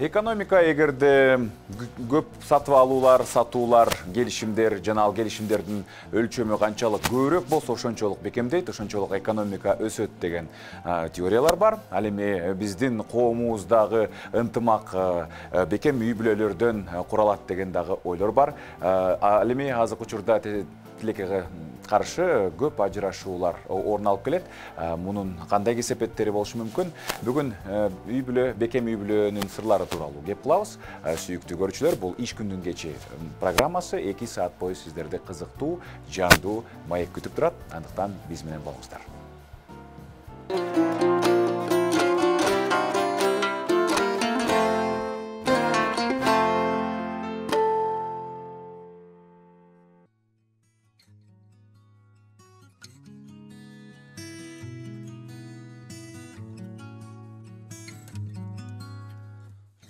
Экономика эгерде көп сатып алуулар, сатуулар, келишимдер жана ал келишимдердин өлчөмү канчалык көбүрөөк болсо ошончолук бекемдейт, ошончолук экономика өсөт деген теориялар бар. Ал эми биздин коомубуздагы ынтымак бекем үй бүлөлөрдөн куралат деген дагы ойлор бар. Ал эми азыркы учурда тилекке каршы көп ажырашуулар орун алып келет. Мунун кандай кесепеттери болушу мүмкүн? Бүгүн үй бүлө, бекем үй бүлөнүн сырлары тууралуу кеп кылабыз. Сүйүктүү көрүүчүлөр, бул иш күндүн кечи программасы 2 саат бою сиздерди кызыктуу, жандуу маек күтүп турат. Андыктан биз менен болуңуздар.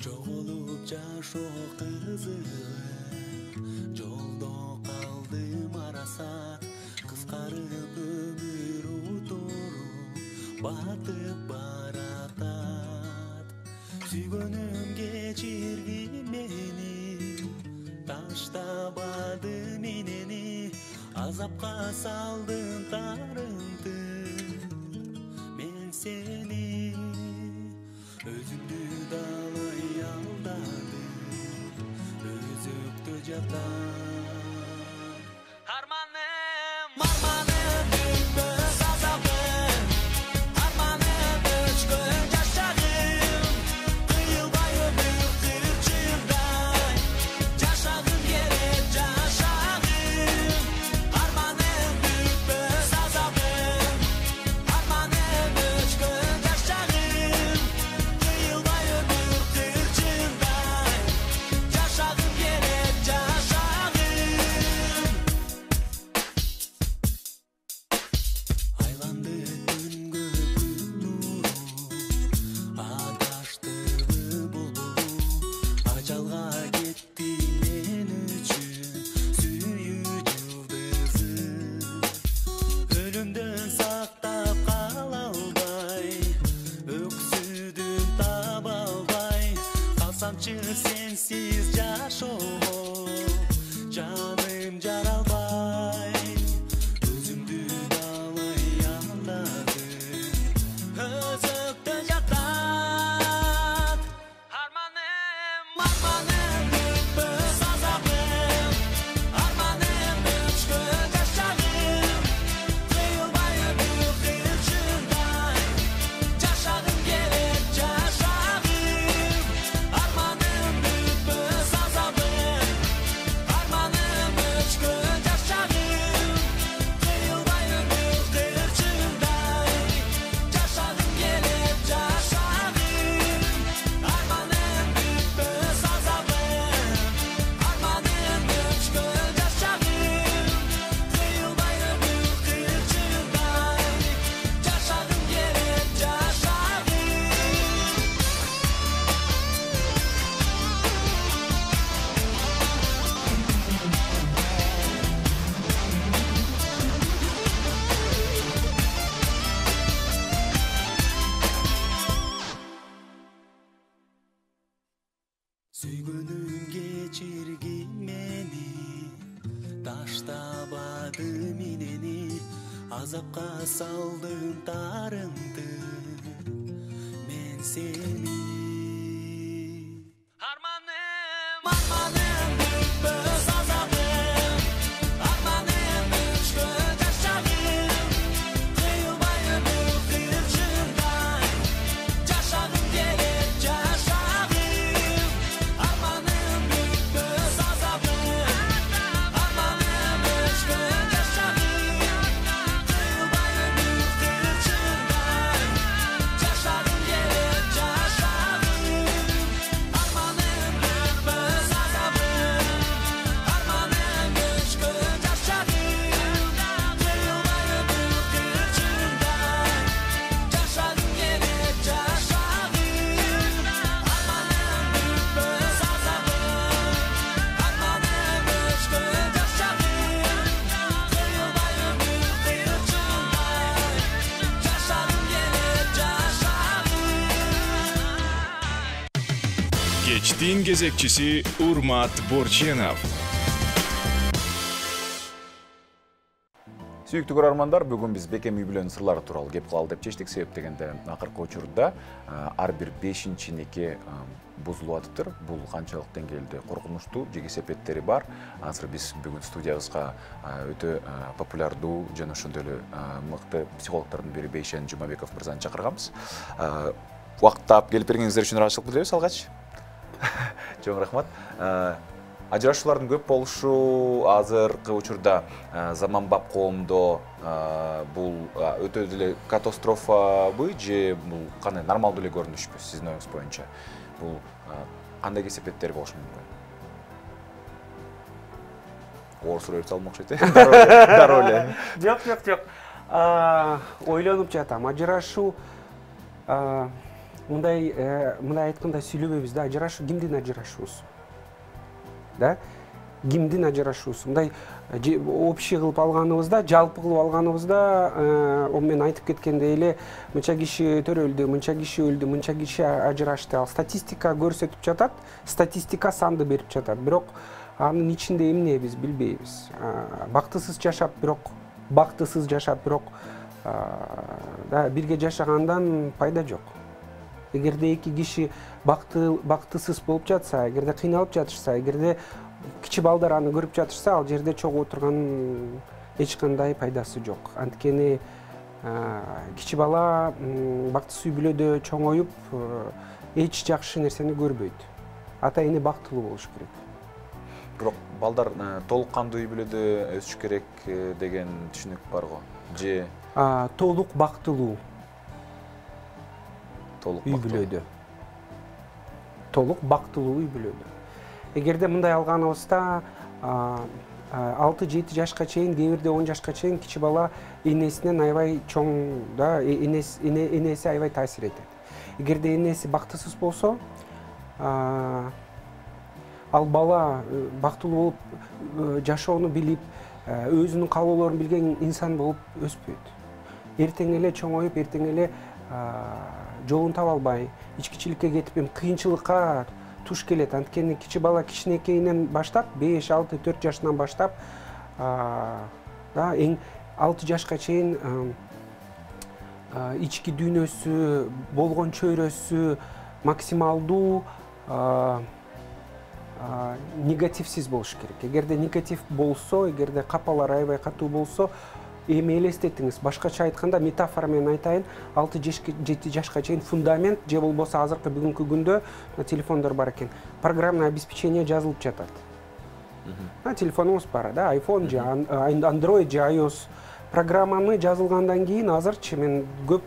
Жоголуп жашоо кызыгы, жолдо калдым арасат, кыскарып өмүр утуру батып баратат. Сүйгөнүм кечирги мени, таштабады менени, азапка салдым тарымды мен сени, өзүмдү далай алдадым, өзөктө жатам. Арманым бүтпөс азабым, арманым өчкөн жашагым, кыйылбай өмүр кырчындай, жашагым келет жашагым. Арманым бүтпөс азабым, арманым өчкөн жашагым, кыйылбай өмүр кырчындай, жашагым келет жашагым. Айланды күнгө күн нуру, адаштырды булбулу, ажалга кетти мен үчүн сүйүү жылдызым. Өлүмдөн сактап кала албай, өксүдүм таба албай, калсамчы сенсиз жашоого, жаным жаралбай. Өзүмдү далай алдадым, өзөктө жатат. Арманым бүтпөс азабым, арманым өчкөн жашагым, кыйылбай өмүр кырчындай, жашагым келет жашагым. Арманым бүтпөс азабым, арманым өчкөн жашагым, кыйылбай өмүр кырчындай, жашагым келет жашагым. Арманым бүтпөс азабым, арманым өчкөн жашагым, кыйылбай өмүр кырчындай, жашагым келет жашагым. Сүйгөнүм кечирги мени, таштабады менени, азапка салдым тарымды мен сени. Арманым бүтпөс азабым, арманым өчкөн жашагым, кыйылбай өмүр кырчындай, жашагым келет жашагым. Арманым бүтпөс азабым, арманым өчкөн жашагым, кыйылбай өмүр кырчындай, жашагым келет жашагым. Арманым бүтпөс азабым. Кечтин кезекчиси Урмат Борченов. Сүйүктүү көрөрмандар, бүгүн биз бекем үй бүлөнүн сырлары тууралуу кеп кылалы деп чечтик. Себеп дегенде акыркы учурда ар бир 5-чи неке бузулуп атыптыр. Бул канчалык деңгээлде коркунучтуу же кесепеттери бар. Азыр биз бүгүн студиябызга өтө популярдуу жана ошондой эле мыкты психологдордун бири Бейшен Жумабеков мырзаны чакырганбыз. Убакыт таап келип бергениңиздер үчүн ыраазычылык билдиребиз. Алгач. Чоң рахмат. Ажырашуулардын көп болушу азыркы учурда заманбап коомдо бул өтө эле катастрофабы же бул кандай нормалдуу эле көрүнүшпү сиздин оюңуз боюнча? Бул кандай кесепеттер болушу мүмкүн? Оор суроо берип салмакчы экен. Дароо эле. Жок. Ойлонуп жатам. Ажырашуу мындай айтканда сүйлөбөйбүз да, ажырашуу кимдин ажырашуусу? Да? Кимдин ажырашуусу? Мындай общий кылып алганыбызда, жалпы кылып алганыбызда, мен айтып кеткендей эле мынча киши төрөлдү, мынча киши өлдү, мынча киши ажырашты. Ал статистика көрсөтүп жатат, статистика санды берип жатат. Бирок анын ичинде эмне биз билбейбиз. Бактысыз жашап, бирок бирге жашагандан пайда жок. Эгерде эки киши бактысыз болуп жатса, эгерде кыйналып жатышса, эгерде кичи балдар аны көрүп жатышса, ал жерде чогуу отурган эч кандай пайдасы жок. Анткени кичи бала бактысыз үй бүлөдө чоңоюп эч жакшы нерсени көрбөйт. Ата эне бактылуу болуш керек. Бирок балдар толук кандуу үй бүлөдө өсүш керек деген түшүнүк бар го. Же толук бактылуу үй бүлөдө. Толук бактылуу үй бүлөдө. Эгерде мындай алганыбызда 6-7 жашка чейин, кээ бирде 10 жашка чейин кичи бала энесинен аябай чоң, да, энеси аябай таасир этет. Эгерде энеси бактысыз болсо, ал бала бактылуу болуп жашоону билип, өзүнүн каалоолорун билген инсан болуп өспөйт. Эртең эле чоңоюп, эртең эле жолун таба албай, ичкичиликке кетип, кыйынчылыкка туш келет. Анткени кичи бала кичинекейинен баштап, 5-6-4 жашынан баштап, эң 6 жашка чейин ички дүйнөсү, болгон чөйрөсү максималдуу негативсиз болуш керек. Эгерде негатив болсо, эгерде капалар аябай катуу болсо, эми элестетиңиз, башкача айтканда, метафора менен айтайын, 6-7 жашка чейин фундамент, же болбосо азыркы бүгүнкү күндө телефондор бар экен, программное обеспечение жазылып жатат. Телефонуңуз бар, да, iPhone же Android же iOS программаны жазылгандан кийин азырчы мен көп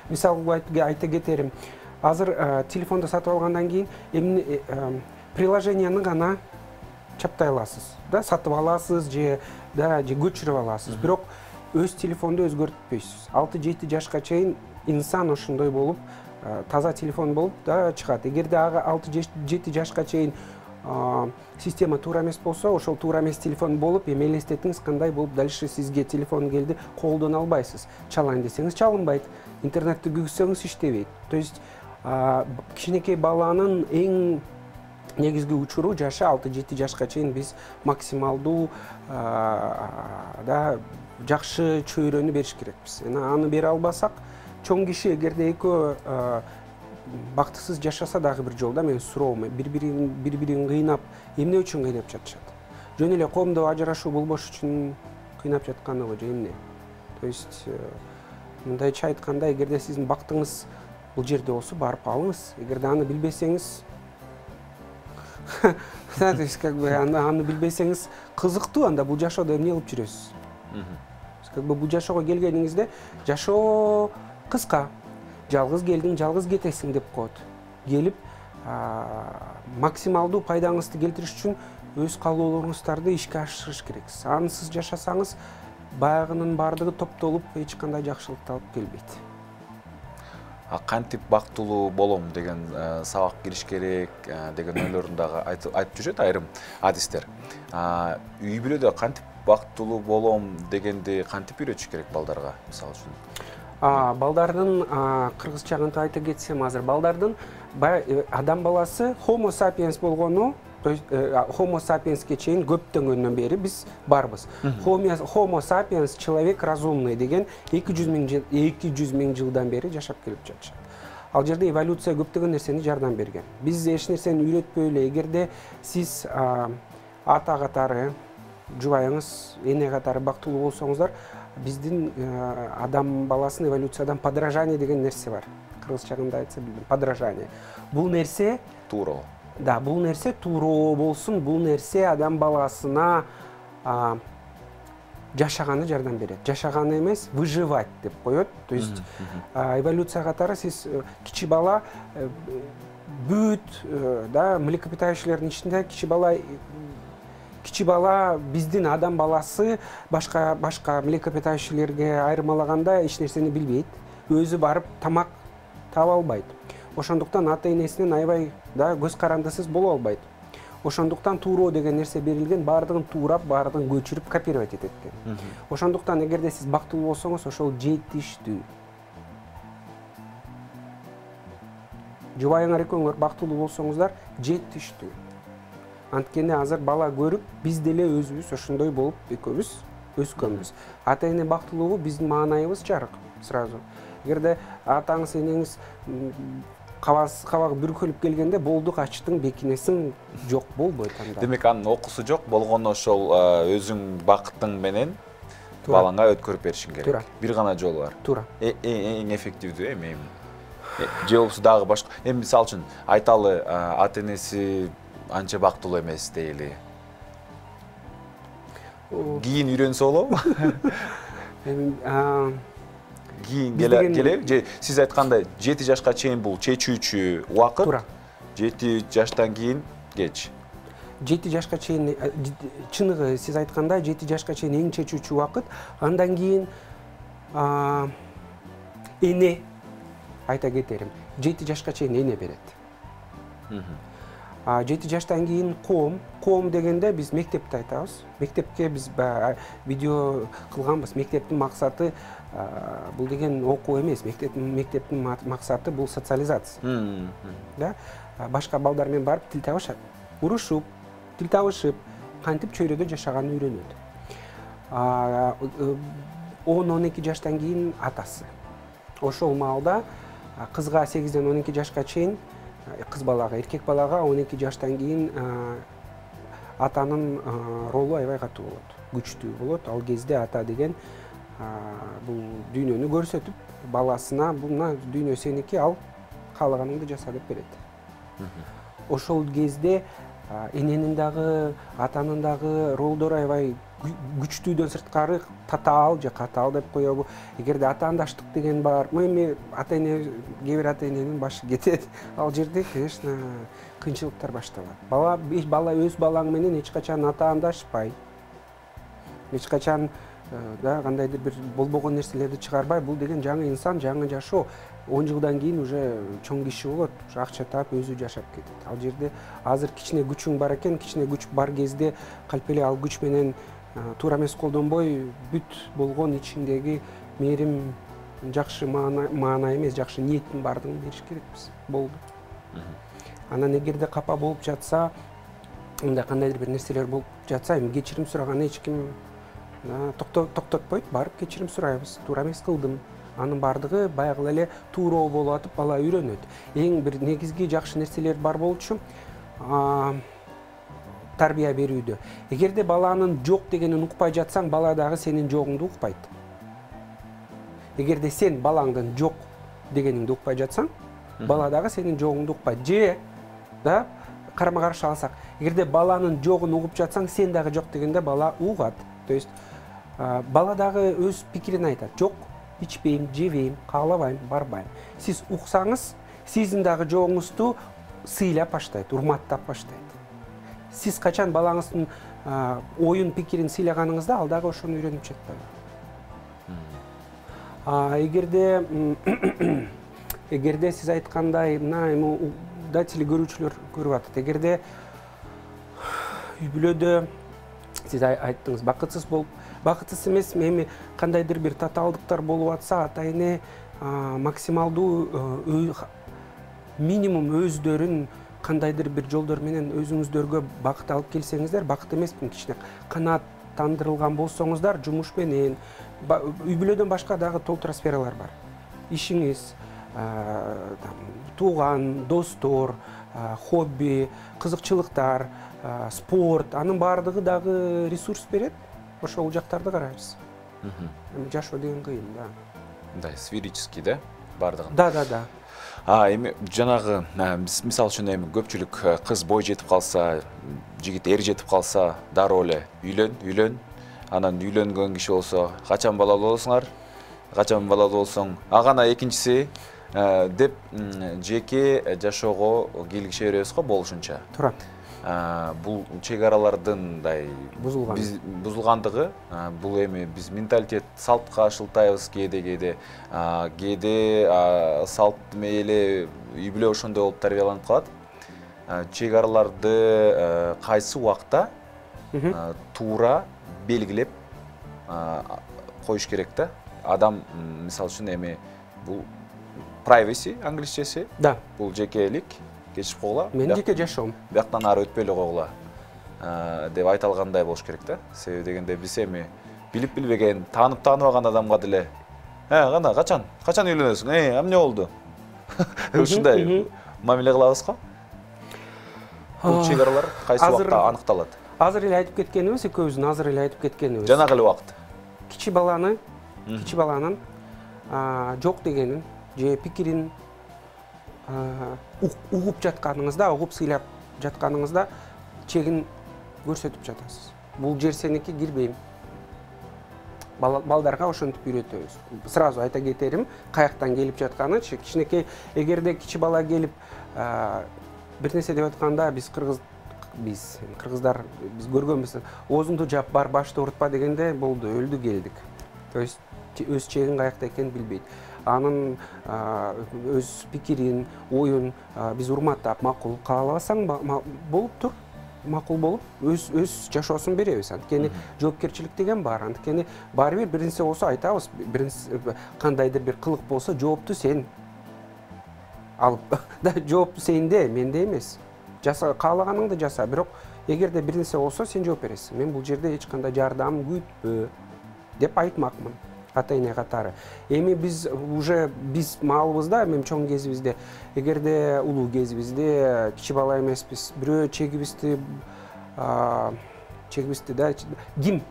мисал айта кетерим. Азыр телефонду сатып алгандан кийин приложенияны гана чаптай аласыз, да, сатып аласыз же көчүрүп аласыз. Бирок өз телефонду өзгөртпөйсүз. 6-7 жашка чейин инсан ошондой болуп, таза телефон болуп да чыгат. Эгерде ага 6-7 жашка чейин система туура эмес болсо, ошол туура эмес телефон болуп, эми элестетиңиз кандай болуп дальше сизге телефон келди, колдоно албайсыз. Чалайын десеңиз чалынбайт, интернетти күйгүзсөңүз иштебейт. То есть кичинекей баланын эң негизги учуру жашы 6-7 жашка чейин биз максималдуу жакшы чөйрөнү бериш керекпиз. Аны бере албасак, чоң киши эгерде экөө бактысыз жашаса дагы бир жолда менин суроом, бири-бирин кыйнап, эмне үчүн кыйнап жатышат? Жөн эле коомдо ажырашуу болбош үчүн кыйнап жатканыбы же эмне? То есть мындайча айтканда, эгерде сиздин бактыңыз бул жерде болсо, барып алыңыз. Эгерде аны билбесеңиз, аны билбесеңиз кызыктуу, анда бул жашоодо эмне кылып жүрөсүз? Бул жашоого келгениңизде жашоо кыска. Жалгыз келдиң, жалгыз кетесиң деп коет. Келип, максималдуу пайдаңызды келтириш үчүн өз каалоолоруңуздарды ишке ашырыш керексиз. Ансыз жашасаңыз, баягынын бардыгы топтолуп, эч кандай жакшылыкты алып келбейт. Кантип бактылуу болом деген сабак кириш керек деген ойлорун дагы айтып жүрөт айрым адистер. Үй бүлөдө кантип бактылуу болом дегенди кантип үйрөтүш керек балдарга, мисалы үчүн? Балдардын кыргызча кантип айта кетсем, азыр балдардын адам баласы homo sapiens болгону, то есть homo sapiensке чейин көптөнгөндөн бери биз барбыз. Homo sapiens человек разумный деген 200 миң жылдан бери жашап келип жатышат. Ал жерде эволюция көптөгөн нерсени жардам берген. Биз эч нерсени үйрөтпөй эле, эгерде сиз ата катары, жубайыңыз, эне катары бактылуу болсоңуздар, биздин адам баласынын эволюциядан подражание деген нерсе бар. Кыргызча кандай айтса билбейм. Подражание. Бул нерсе туура. Да, бул нерсе туура болсун, бул нерсе адам баласына жашаганы жардам берет. Жашаганы эмес, выживать деп коет. То есть эволюция катары сиз кичи бала бүт млекопитающийлердин ичинде кичи бала биздин адам баласы башка млекопитающийлерге айырмалаганда эч нерсени билбейт. Өзү барып тамак таба албайт. Ошондуктан ата энесинен аябай көз карандысыз боло албайт. Ошондуктан тууроо деген нерсе берилген, баардыгын туурап, баардыгын көчүрүп копировать этет экен. Ошондуктан эгерде сиз бактылуу болсоңуз, ошол жетиштүү. Жубайыңар экөөңөр бактылуу болсоңуздар, жетиштүү. Анткени азыр бала көрүп, биз деле өзүбүз ошондой болуп экөөбүз өскөнбүз. Ата эне бактылуу биздин маанайыбыз жарык сразу. Эгерде атаңыз, энеңиз кабагы бүркөлүп келгенде болду, качтың, бекинесиң, жок болбойт анда. Демек анын окуусу жок болгону ошол өзүң бакытың менен балаңа өткөрүп беришиң керек. Бир гана жолу бар. Туура. Эң эффективдүү эми. Же болбосо дагы башка. Эми мисалы үчүн айталы ата энеси анча бактылуу эмес дейли. Кийин үйрөнсө болобу? Кийин келе же сиз айткандай 7 жашка чейин бул чечүүчү убакыт. Туура. 7 жаштан кийин кеч. 7 жашка чейин чыныгы сиз айткандай 7 жашка чейин эң чечүүчү убакыт. Андан кийин эне айта кетерим. 7 жашка чейин эне берет. 7 жаштан кийин коом дегенде биз мектепти айтабыз. Мектепке биз видео кылганбыз. Мектептин максаты бул деген окуу эмес. Мектептин максаты бул социализация. Да? Башка балдар менен барып тил табышат. Урушуп, тил табышып, кантип чөйрөдө жашаганын үйрөнөт. 10-12 жаштан кийин атасы. Ошол маалда кызга 8-ден 12 жашка чейин, кыз балага, эркек балага 12 жаштан кийин атанын ролу аябай катуу болот, күчтүү болот. Ал кезде ата деген бул дүйнөнү көрсөтүп, баласына мына дүйнө сеники, ал каалаганыңды жаса деп берет. Ошол кезде эненин дагы, атанын дагы ролдору аябай күчтүүдөн сырткары татаал же катаал деп коебу. Эгерде атаандаштык деген бар, эми ата эне, кээ бир ата эненин башы кетет. Ал жерде, конечно, кыйынчылыктар башталат. Бала өз балаң менен эч качан атаандашпай, эч качан кандайдыр бир болбогон нерселерди чыгарбай, бул деген жаңы инсан, жаңы жашоо. 10 жылдан кийин уже чоң киши болот, акча таап өзү жашап кетет. Ал жерде азыр кичине күчүң бар экен, кичине күч бар кезде калп эле ал күч менен туура эмес колдонбой, бүт болгон ичиңдеги мээрим, жакшы маана эмес, жакшы ниеттин бардыгын бериш керекпиз. Болду. Анан эгерде капа болуп жатса, мындай кандайдыр бир нерселер болуп жатса, эми кечирим сураганы эч ким токтотпойт, барып кечирим сурайбыз. Туура эмес кылдым. Анын бардыгы баягы эле тууроо болуп атып, бала үйрөнөт. Эң бир негизги жакшы нерселер бар болчу тарбия берүүдө. Эгерде баланын жок дегенин укпай жатсаң, бала дагы сенин жогуңду укпайт. Эгерде сен балаңдын жок дегениңди укпай жатсаң, бала дагы сенин жогуңду укпайт. Же карама каршы алсак, эгерде баланын жогун угуп жатсаң, сен дагы жок дегенде бала угат. То есть бала дагы өз пикирин айтат. Жок, ичпейм, жебейм, каалабайм, барбайм. Сиз уксаңыз, сиздин дагы жогуңузду сыйлап баштайт, урматтап баштайт. Сиз качан балаңыздын оюн, пикирин сыйлаганыңызда, ал дагы ошону үйрөнүп жатат. Эгерде сиз айткандай, мына эми телекөрүүчүлөр көрүп атат. Эгерде үй бүлөдө сиз айттыңыз, бакытсыз болуп, бакытсыз эмес, эми кандайдыр бир татаалдыктар болуп атса, ата эне максималдуу минимум өздөрүн кандайдыр бир жолдор менен өзүңүздөргө бакыт алып келсеңиздер, бакыт эмеспин, кичине канааттандырылган болсоңуздар жумуш менен, үй бүлөдөн башка дагы толтура сфералар бар. Ишиңиз, тууган, достор, хобби, кызыкчылыктар, спорт, анын баардыгы дагы ресурс берет. Ошол жактарды карайбыз. Жашоо деген кыйын, да. Мындай сферический, да, баардыгын. Да. Эми жанагы биз мисалы үчүн эми көпчүлүк кыз бой жетип калса, жигит эр жетип калса, дароо эле үйлөн. Анан үйлөнгөн киши болсо, качан балалуу болсуңар? Качан балалуу болсоң? Гана экинчиси деп жеке жашоого кийлигише беребиз го болушунча. Туура. Бул чек аралардын мындай бузулгандыгы, бул эми биз менталитет салтка шылтайбыз кээде салт мейли үй бүлө ошондой болуп тарбияланып калат. Чек араларды кайсы убакта туура белгилеп коюш керек да. Адам мисалы үчүн эми бул privacy англисчеси. Да. Бул жекелик кечип койгула. Мен жеке жашоом. Бияктан ары өтпөй эле койгула деп айта алгандай болуш керек да. Себеби дегенде биз эми билип билбеген, тааныбаган адамга деле кана качан үйлөнөсүң? Эмне болду? Ушундай мамиле кылабыз го. Бул чек аралар кайсы убакта аныкталат? Азыр эле айтып кеткенибиз, экөөбүздүн азыр эле айтып кеткенибиз. Жанагы эле убакыт. Кичи баланын жок дегенин же пикирин угуп жатканыңызда, угуп сыйлап жатканыңызда чегин көрсөтүп жатасыз. Бул жер сеники, кирбейм. Балдарга ошентип үйрөтөбүз. Сразу айта кетерим, каяктан келип жатканын, кичинекей, эгерде кичи бала келип бир нерсе деп атканда, биз кыргыздар биз көргөнбүз. Оозуңду жап, бар башты урутпа дегенде болду, өлдү келдик. То есть өз чегин каякта экенин билбейт. Анын өз пикирин, оюн биз урматтап, макул каалабасаң болуп тур. Макул болуп, өз жашоосун беребиз. Анткени жоопкерчилик деген бар. Анткени баары бир нерсе болсо айтабыз, кандайдыр бир кылык болсо жоопту сен алып. Да, жоопту сенде, менде эмес. Жаса, каалаганыңды жаса, бирок эгерде бир нерсе болсо сен жооп бересиң. Мен бул жерде эч кандай жардам күтпө деп айтмакмын. Ата-эне катары. Эми биз маалыбызда, эми чоң кезибизде, эгерде улуу кезибизде кичи бала эмеспиз, бирөө чегибизди да ким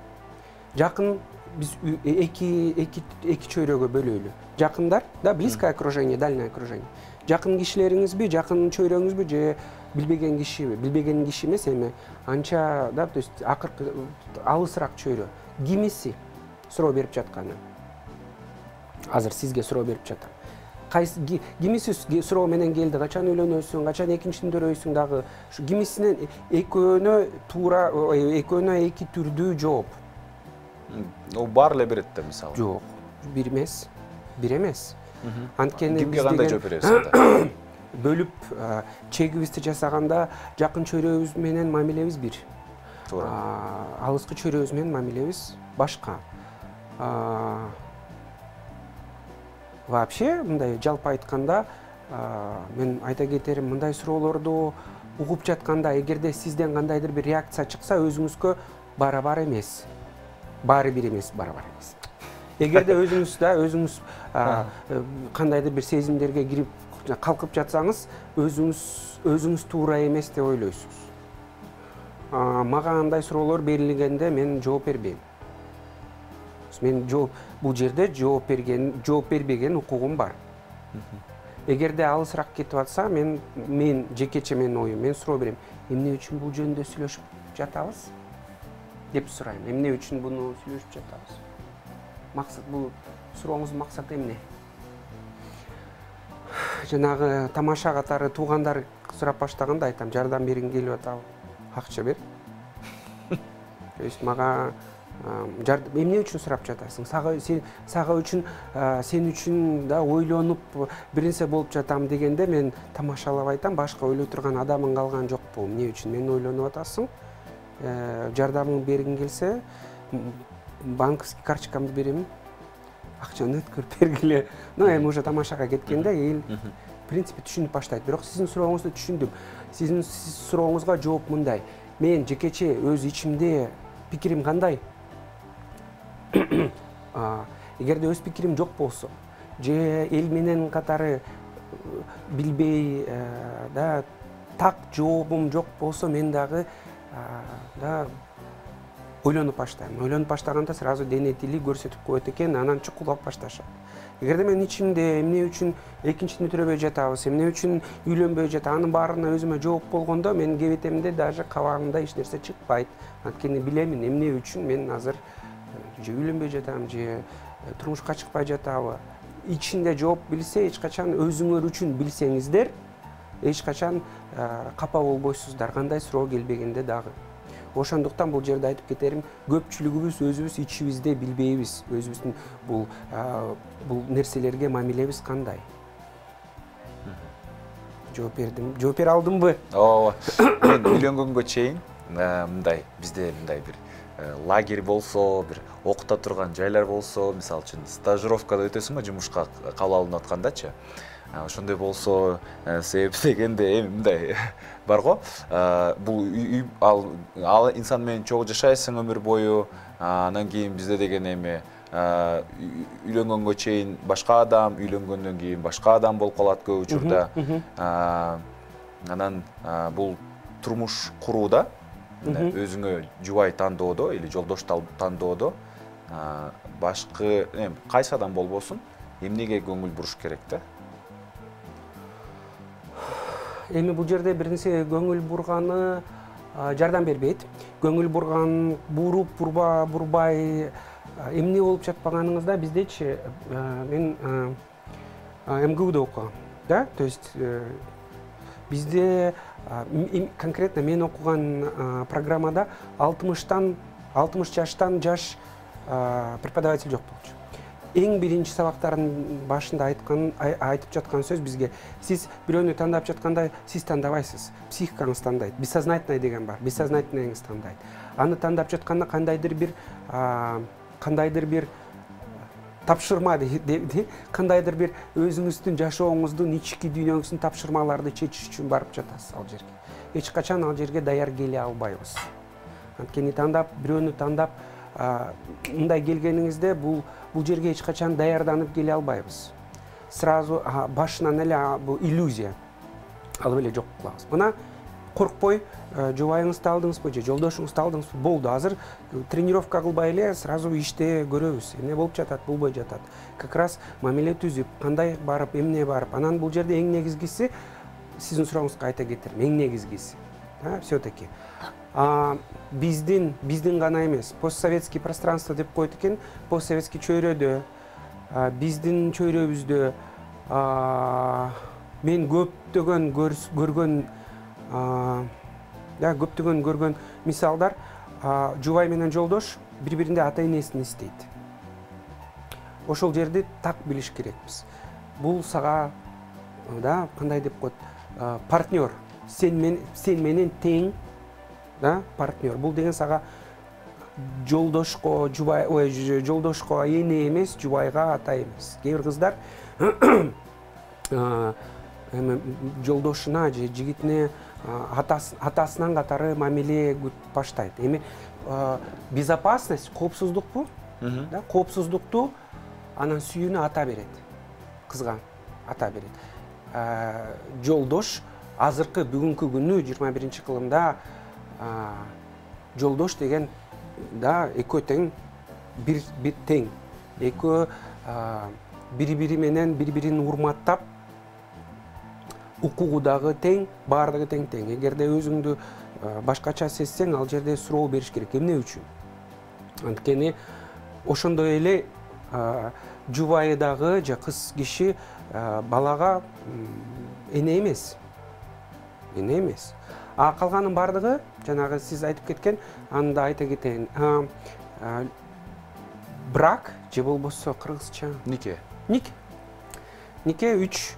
жакын биз эки чөйрөгө бөлөйлү. Жакындар, да, близкое окружение, дальнее окружение. Жакын кишилериңизби, жакын чөйрөңүзбү же билбеген кишиби? Билбеген киши эмес, эми анча, да, то есть акыркы алысыраак чөйрө. Кимиси суроо берип жатканы? Азыр сизге суроо берип жатам. Кимиси суроо менен келди, качан үйлөнөсүң, качан экинчисин төрөйсүң дагы. Кимисинен экөөнө эки түрдүү жооп. О бар эле берет да, мисалы. Жок, бир эмес. Анткени кимге кандай жооп бересиң? Бөлүп чегибизди жасаганда жакын чөйрөбүз менен мамилебиз бир. Туура. Алыскы чөйрөбүз менен мамилебиз башка. Вообще, мындай жалпы айтканда, мен айта кетерим, мындай суроолорду угуп жатканда, эгерде сизден кандайдыр бир реакция чыкса, өзүңүзгө барабар эмес. Баары бир эмес, барабар эмес. Эгерде өзүңүз кандайдыр бир сезимдерге кирип калкып жатсаңыз, өзүңүз туура эмес деп ойлойсуз. Мага андай суроолор берилгенде мен жооп бербейм. Мен бул жерде жооп бербеген укугум бар. Эгерде алысыраак кетип атса, мен жекече менин оюм, мен суроо берем. Эмне үчүн бул жөнүндө сүйлөшүп жатабыз? Деп сурайм. Эмне үчүн буну сүйлөшүп жатабыз? Максат, бул сурооңуздун максаты эмне? Жанагы тамаша катары туугандар сурап баштаганда айтам, жардам бергиң келип атабы? Акча бер. То есть мага эмне үчүн сурап жатасың? Сага үчүн, сен үчүн да ойлонуп бир нерсе болуп жатам дегенде мен тамашалап айтам, башка ойлой турган адамың калган жокпу? Эмне үчүн мени ойлонуп атасың? Жардамың бергиң келсе, банковский карточкамды берем. Акчаны өткөрүп бергиле. Ну, эми уже тамашага кеткенде принципе түшүнүп баштайт. Бирок сиздин сурооңузду түшүндүм. Сиздин сурооңузга жооп мындай. Мен жекече өз ичимде пикирим кандай? Эгерде өз пикирим жок болсо, же эл менен катары билбей, так жообум жок болсо, мен дагы ойлонуп баштайм. Ойлонуп баштаганда сразу дене тили көрсөтүп коет экен, анан чукулдап башташат. Эгерде мен ичимде эмне үчүн экинчисин бүтүрөбөй жатабыз, эмне үчүн үйлөнбөй жатат, анын баарына өзүмө жооп болгондо, менин кебетемде даже кабагымда эч нерсе чыкпайт. Анткени билемин эмне үчүн мен азыр же үйлөнбөй жатам, же турмушка чыкпай жатабы. Ичинде жооп билсе, эч качан өзүңөр үчүн билсеңиздер, эч качан капа болбойсуздар, кандай суроо келбегенде дагы. Ошондуктан бул жерде айтып кетерим, көпчүлүгүбүз өзүбүз ичибизде билбейбиз, өзүбүздүн бул нерселерге мамилебиз кандай. Жооп бердим. Жооп бере алдымбы? Ооба. Мен үйлөнгөнгө чейин мындай бизде мындай бир лагерь болсо, бир окута турган жайлар болсо, мисалы үчүн стажировкада өтөсүң го жумушка кабыл алынып аткандачы. Ошондой болсо, себеп дегенде эми мындай бар го. Бул ал инсан менен чогуу жашайсың өмүр бою. Анан кийин бизде деген эми үйлөнгөнгө чейин башка адам, үйлөнгөндөн кийин башка адам болуп калат көп учурда. Анан бул турмуш курууда, өзүңө жубай тандоодо или жолдош тандоодо башкы кайсы адам болбосун, эмнеге көңүл буруш керек да? Эми бул жерде бир нерсе көңүл бурганы жардам бербейт. Көңүл бурган, бурбай эмне болуп жатпаганыңызда биздечи мен МГУда окугам, да? То есть бизде конкретно мен окуган программада 60 жаштан жаш преподаватель жок болчу. Эң биринчи сабактардын башында айтып жаткан сөз бизге: сиз бирөөнү тандап жатканда сиз тандабайсыз, психикаңыз тандайт. Бессознательный деген бар, бессознательныйыңыз тандайт. Аны тандап жатканда кандайдыр бир тапшырма, кандайдыр бир өзүңүздүн жашооңуздун ички дүйнөңүздүн тапшырмаларды чечиш үчүн барып жатасыз ал жерге. Эч качан ал жерге даяр келе албайбыз. Анткени бирөөнү тандап мындай келгениңизде бул жерге эч качан даярданып келе албайбыз. Сразу башынан эле бул иллюзия алып эле жок кылабыз. Мына коркпой жубайыңызды алдыңызбы же жолдошуңузду алдыңызбы, болду. Азыр тренировка кылбай эле сразу иште көрөбүз. Эмне болуп жатат, болбой жатат. Как раз мамиле түзүп, кандай барып, эмне барып. Анан бул жерде эң негизгиси, сиздин сурооңузга айта кетерим, эң негизгиси. Все-таки биздин гана эмес, постсоветский пространство деп коет экен, постсоветский чөйрөдө, биздин чөйрөбүздө мен көптөгөн көргөн мисалдар, жубай менен жолдош бири-биринде ата-энесин эстейт. Ошол жерди так билиш керекпиз. Бул сага кандай деп коет, партнер, сен менен тең, партнер. Бул деген сага жолдошко эне эмес, жубайга ата эмес. Кээ бир кыздар жолдошуна же жигитине атасынан катары мамиле баштайт. Эми безопасность, коопсуздукпу? Коопсуздукту анан сүйүүнү ата берет. Кызга ата берет. Жолдош азыркы бүгүнкү күнү 21-кылымда жолдош деген экөө тең, бир тең. Экөө бири-бири менен бири-бирин урматтап, укугу дагы тең, баардыгы тең. Эгерде өзүңдү башкача сезсең, ал жерде суроо бериш керек. Эмне үчүн? Анткени ошондой эле жубайы дагы же кыз киши балага эне эмес. Калганын баардыгы, жанагы сиз айтып кеткен, аны да айта кетейин. Брак же болбосо кыргызча Нике. Нике 3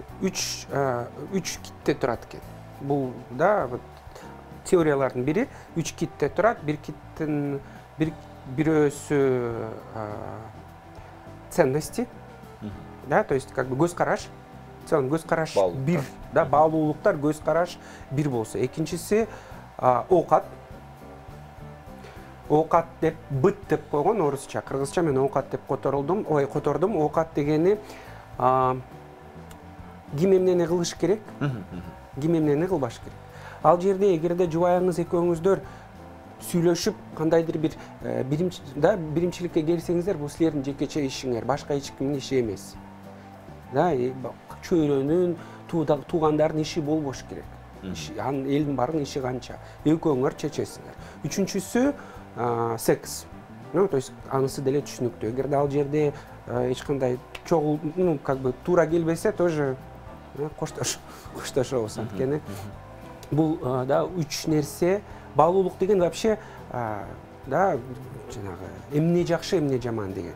китте турат экен. Бул теориялардын бири 3 китте турат. Бир киттин бирөөсү ценности, то есть как бы көз караш, целом көз караш Баалуулуктар. бир, да, баалуулуктар, көз караш бир болсо. Экинчиси оокат. Оокат деп быт деп койгон орусча, кыргызча мен оокат деп котордум. Оокат дегени ким эмнени кылыш керек, ким эмнени кылбаш керек. Ал жерде эгерде жубайыңыз экөөңүздөр сүйлөшүп кандайдыр бир биримчиликке келсеңиздер, бул силердин жекече ишиңер, башка эч кимдин иши эмес. Да, чөйрөнүн, туугандардын иши болбош керек. Анын элдин баарынын иши канча? Экөөңөр чечесиңер. Үчүнчүсү секс. То есть анысы деле түшүнүктүү. Эгерде ал жерде эч кандай как бы туура келбесе, тоже коштошобуз. Анткени бул да үч нерсе. Баалуулук деген вообще да жанагы эмне жакшы, эмне жаман деген.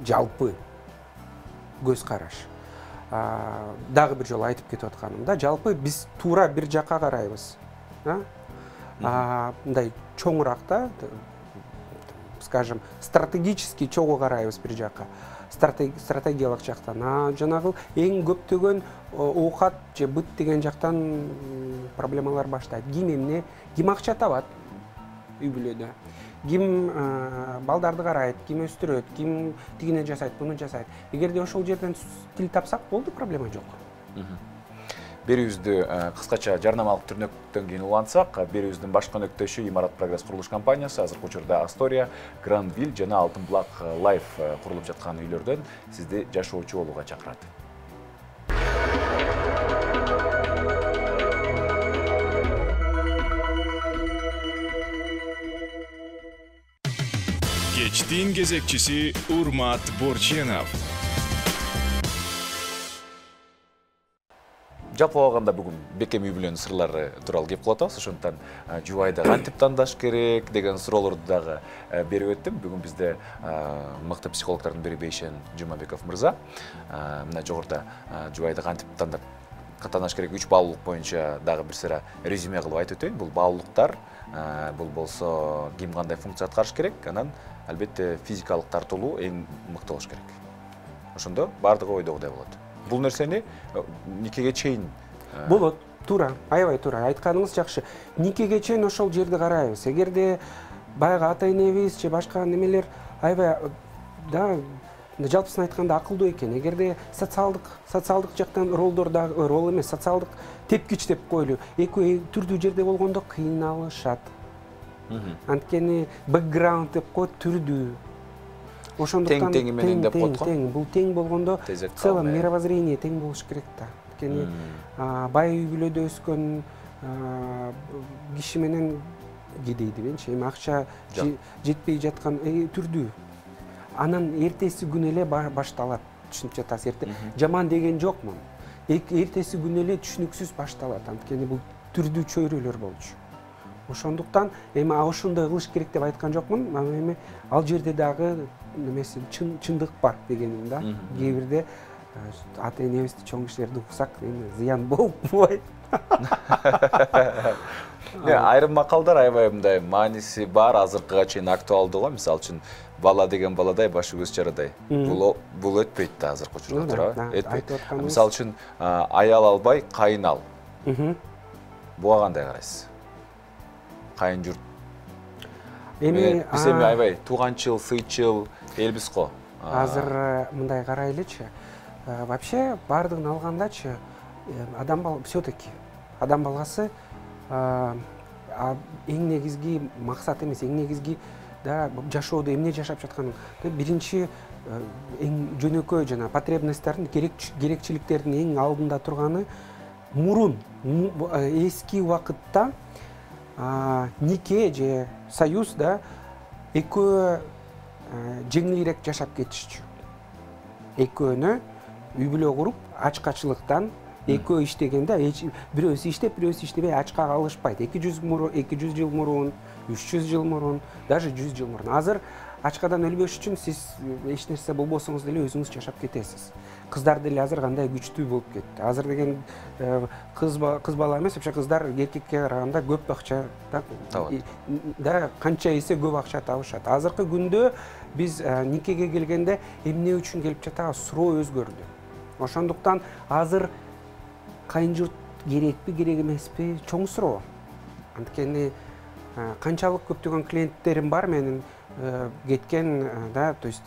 Жалпы көз караш. Дагы бир жолу айтып кетип атканым да, жалпы биз туура бир жакка карайбыз. Мындай чоңураак да, скажем, стратегически чогуу карайбыз бир жакка. Стратегиялык жактан. Жанагы эң көптөгөн оокат же быт деген жактан проблемалар баштайт. Ким акча табат үй бүлөдө, ким балдарды карайт, ким өстүрөт, ким тигине жасайт, буну жасайт. Эгерде ошол жерден тил тапсак болду, проблема жок. Берүүбүздү кыскача жарнамалык түрнөктөн кийин улантсак, берүүбүздүн башкы өнөктөшү Имарат Прогресс курулуш компаниясы азыркы учурда Астория, Грандвилл жана Алтын булак Лайф курулуп жаткан үйлөрдөн сизди жашоочу болууга чакырат. Кечтин кезекчиси Урмат Борченов. Жалпы алганда бүгүн бекем үй бүлөнүн сырлары тууралуу кеп кылып атабыз. Ошондуктан жубайды кантип тандаш керек деген суроолорду дагы берип өттүм. Бүгүн бизде мыкты психологдордун бири Бейшен Жумабеков мырза. Мына жогоруда жубайды кантип тандаш керек 3 баалуулук боюнча дагы бир сыра резюме кылып айтып өтөйүн. Бул баалуулуктар, бул болсо ким кандай функция аткарыш керек, анан албетте физикалык тартылуу эң мыкты болуш керек. Ошондо баардыгы ойдогудай болот. Бул нерсени никеге чейин болот. Туура, аябай туура. Айтканыңыз жакшы. Никеге чейин ошол жерди карайбыз. Эгерде баягы ата-энебиз же башка немелер аябай да жалпысын айтканда акылдуу экен. Эгерде социалдык жактан ролдор дагы рол эмес, социалдык тепкич деп коелу. Экөө түрдүү жерде болгондо кыйналышат. Анткени бэкграунд деп коет, түрдүү. Ошондуктан тең менен деп коет го. Бул тең болгондо целом мировоззрение тең болуш керек да. Анткени бай үй бүлөдө өскөн киши менен кедейди менчи эми акча жетпей жаткан түрдүү. Анан эртеси күнү эле башталат. Түшүнүп жатасыз, жаман деген жокмун. Эртеси күнү эле түшүнүксүз башталат. Анткени бул түрдүү чөйрөлөр болчу. Ошондуктан эми ошондой кылыш керек деп айткан жокмун. Эми ал жерде дагы немеси чындык бар дегеним да. Кээ бирде ата-энебизди, чоң кишилерди уксак, эми зыян болбойт. Айрым макалдар аябай мындай мааниси бар, азыркыга чейин актуалдуу го. Мисалы үчүн бала деген баладай, башы көз чарадай. Бул өтпөйт да азыркы учурда, туура? Өтпөйт. Мисалы үчүн аял албай, кайын ал. Буга кандай карайсыз? Кайын журт. Биз эми аябай тууганчыл, сыйчыл элбиз го. Азыр мындай карайлычы. Вообще бардыгын алгандачы адам все-таки адам баласы эң негизги максат эмес, эң негизги да жашоодо эмне жашап жатканын биринчи эң жөнөкөй жана потребностьтардын, керекчиликтердин эң алдында турганы мурун эски убакытта нике же союз да экөө жеңилирээк жашап кетишчү. Экөөнө үй бүлө куруп, ачкачылыктан экөө иштегенде бирөөсү иштеп, бирөөсү иштебей ачка калышпайт. 200 жыл мурун, 300 жыл мурун, даже 100 жыл мурун. Азыр ачкадан өлбөш үчүн сиз эч нерсе болбосоңуз деле өзүңүз жашап кетесиз. Кыздар деле азыр кандай күчтүү болуп кетти. Азыр деген кыз бала эмес, вообще кыздар эркекке караганда көп акча да канча эсе көп акча табышат. Азыркы күндө биз никеге келгенде эмне үчүн келип жатабыз? Суроо өзгөрдү. Ошондуктан азыр кайын журт керекпи, керек эмеспи, чоң суроо. Анткени канчалык көптөгөн клиенттерим бар менин кеткен, да, то есть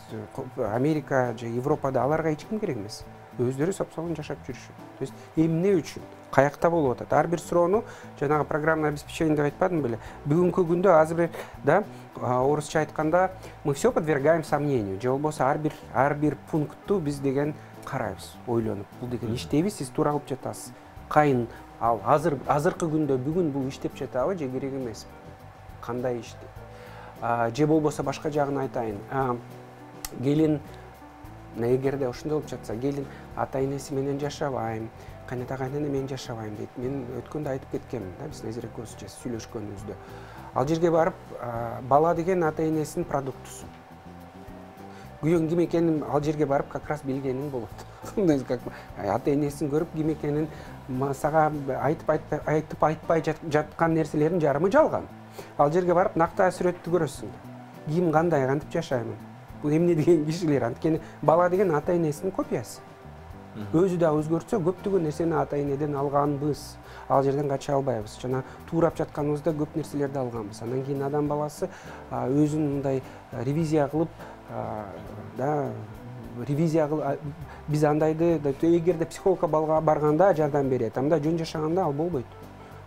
Америка же Европада аларга эч ким керек эмес. Өздөрү сапсалын жашап жүрүшөт. То есть эмне үчүн, каякта болуп атат? Ар бир суроону жанагы программное обеспечение деп айтпадым беле? Бүгүнкү күндө азыр, да, орусча айтканда, мы все подвергаем сомнению. Же болбосо ар бир пунктту биз деген карайбыз, ойлонуп. Бул деген иштейби, сиз туура кылып жатасыз. Кайын ал азыркы күндө бүгүн бул иштеп жатабы же керек эмеспи? Кандай ишти? Же болбосо башка жагын айтайын. Келин эгерде ошондой болуп жатса, келин ата энеси менен жашабайм, кайната кайнана менен жашабайм дейт. Мен өткөндө айтып кеткенмин, да, биз Назира экөөбүз сүйлөшкөнүбүздө. Ал жерге барып, бала деген ата энесинин продуктусу. Күйөөң ким экенин ал жерге барып как раз билгениң болот. Ата энесин көрүп ким экенин сага айтып айтпай жаткан нерселердин жарымы жалган. Ал жерге барып нактаа сүрөттү көрөсүң. Ким кандай, кантип жашаймын? Бул эмне деген кишилер. Анткени бала деген ата энесинин копиясы. Өзү да өзгөртсө көптөгөн нерсени ата энеден алганбыз. Ал жерден кача албайбыз. Жана туурап жатканыбызда көп нерселерди алганбыз. Андан кийин адам баласы өзүн мындай ревизия кылып, да, биз андайды, эгерде психологко барганда жардам берет, анда жөн жашаганда ал болбойт.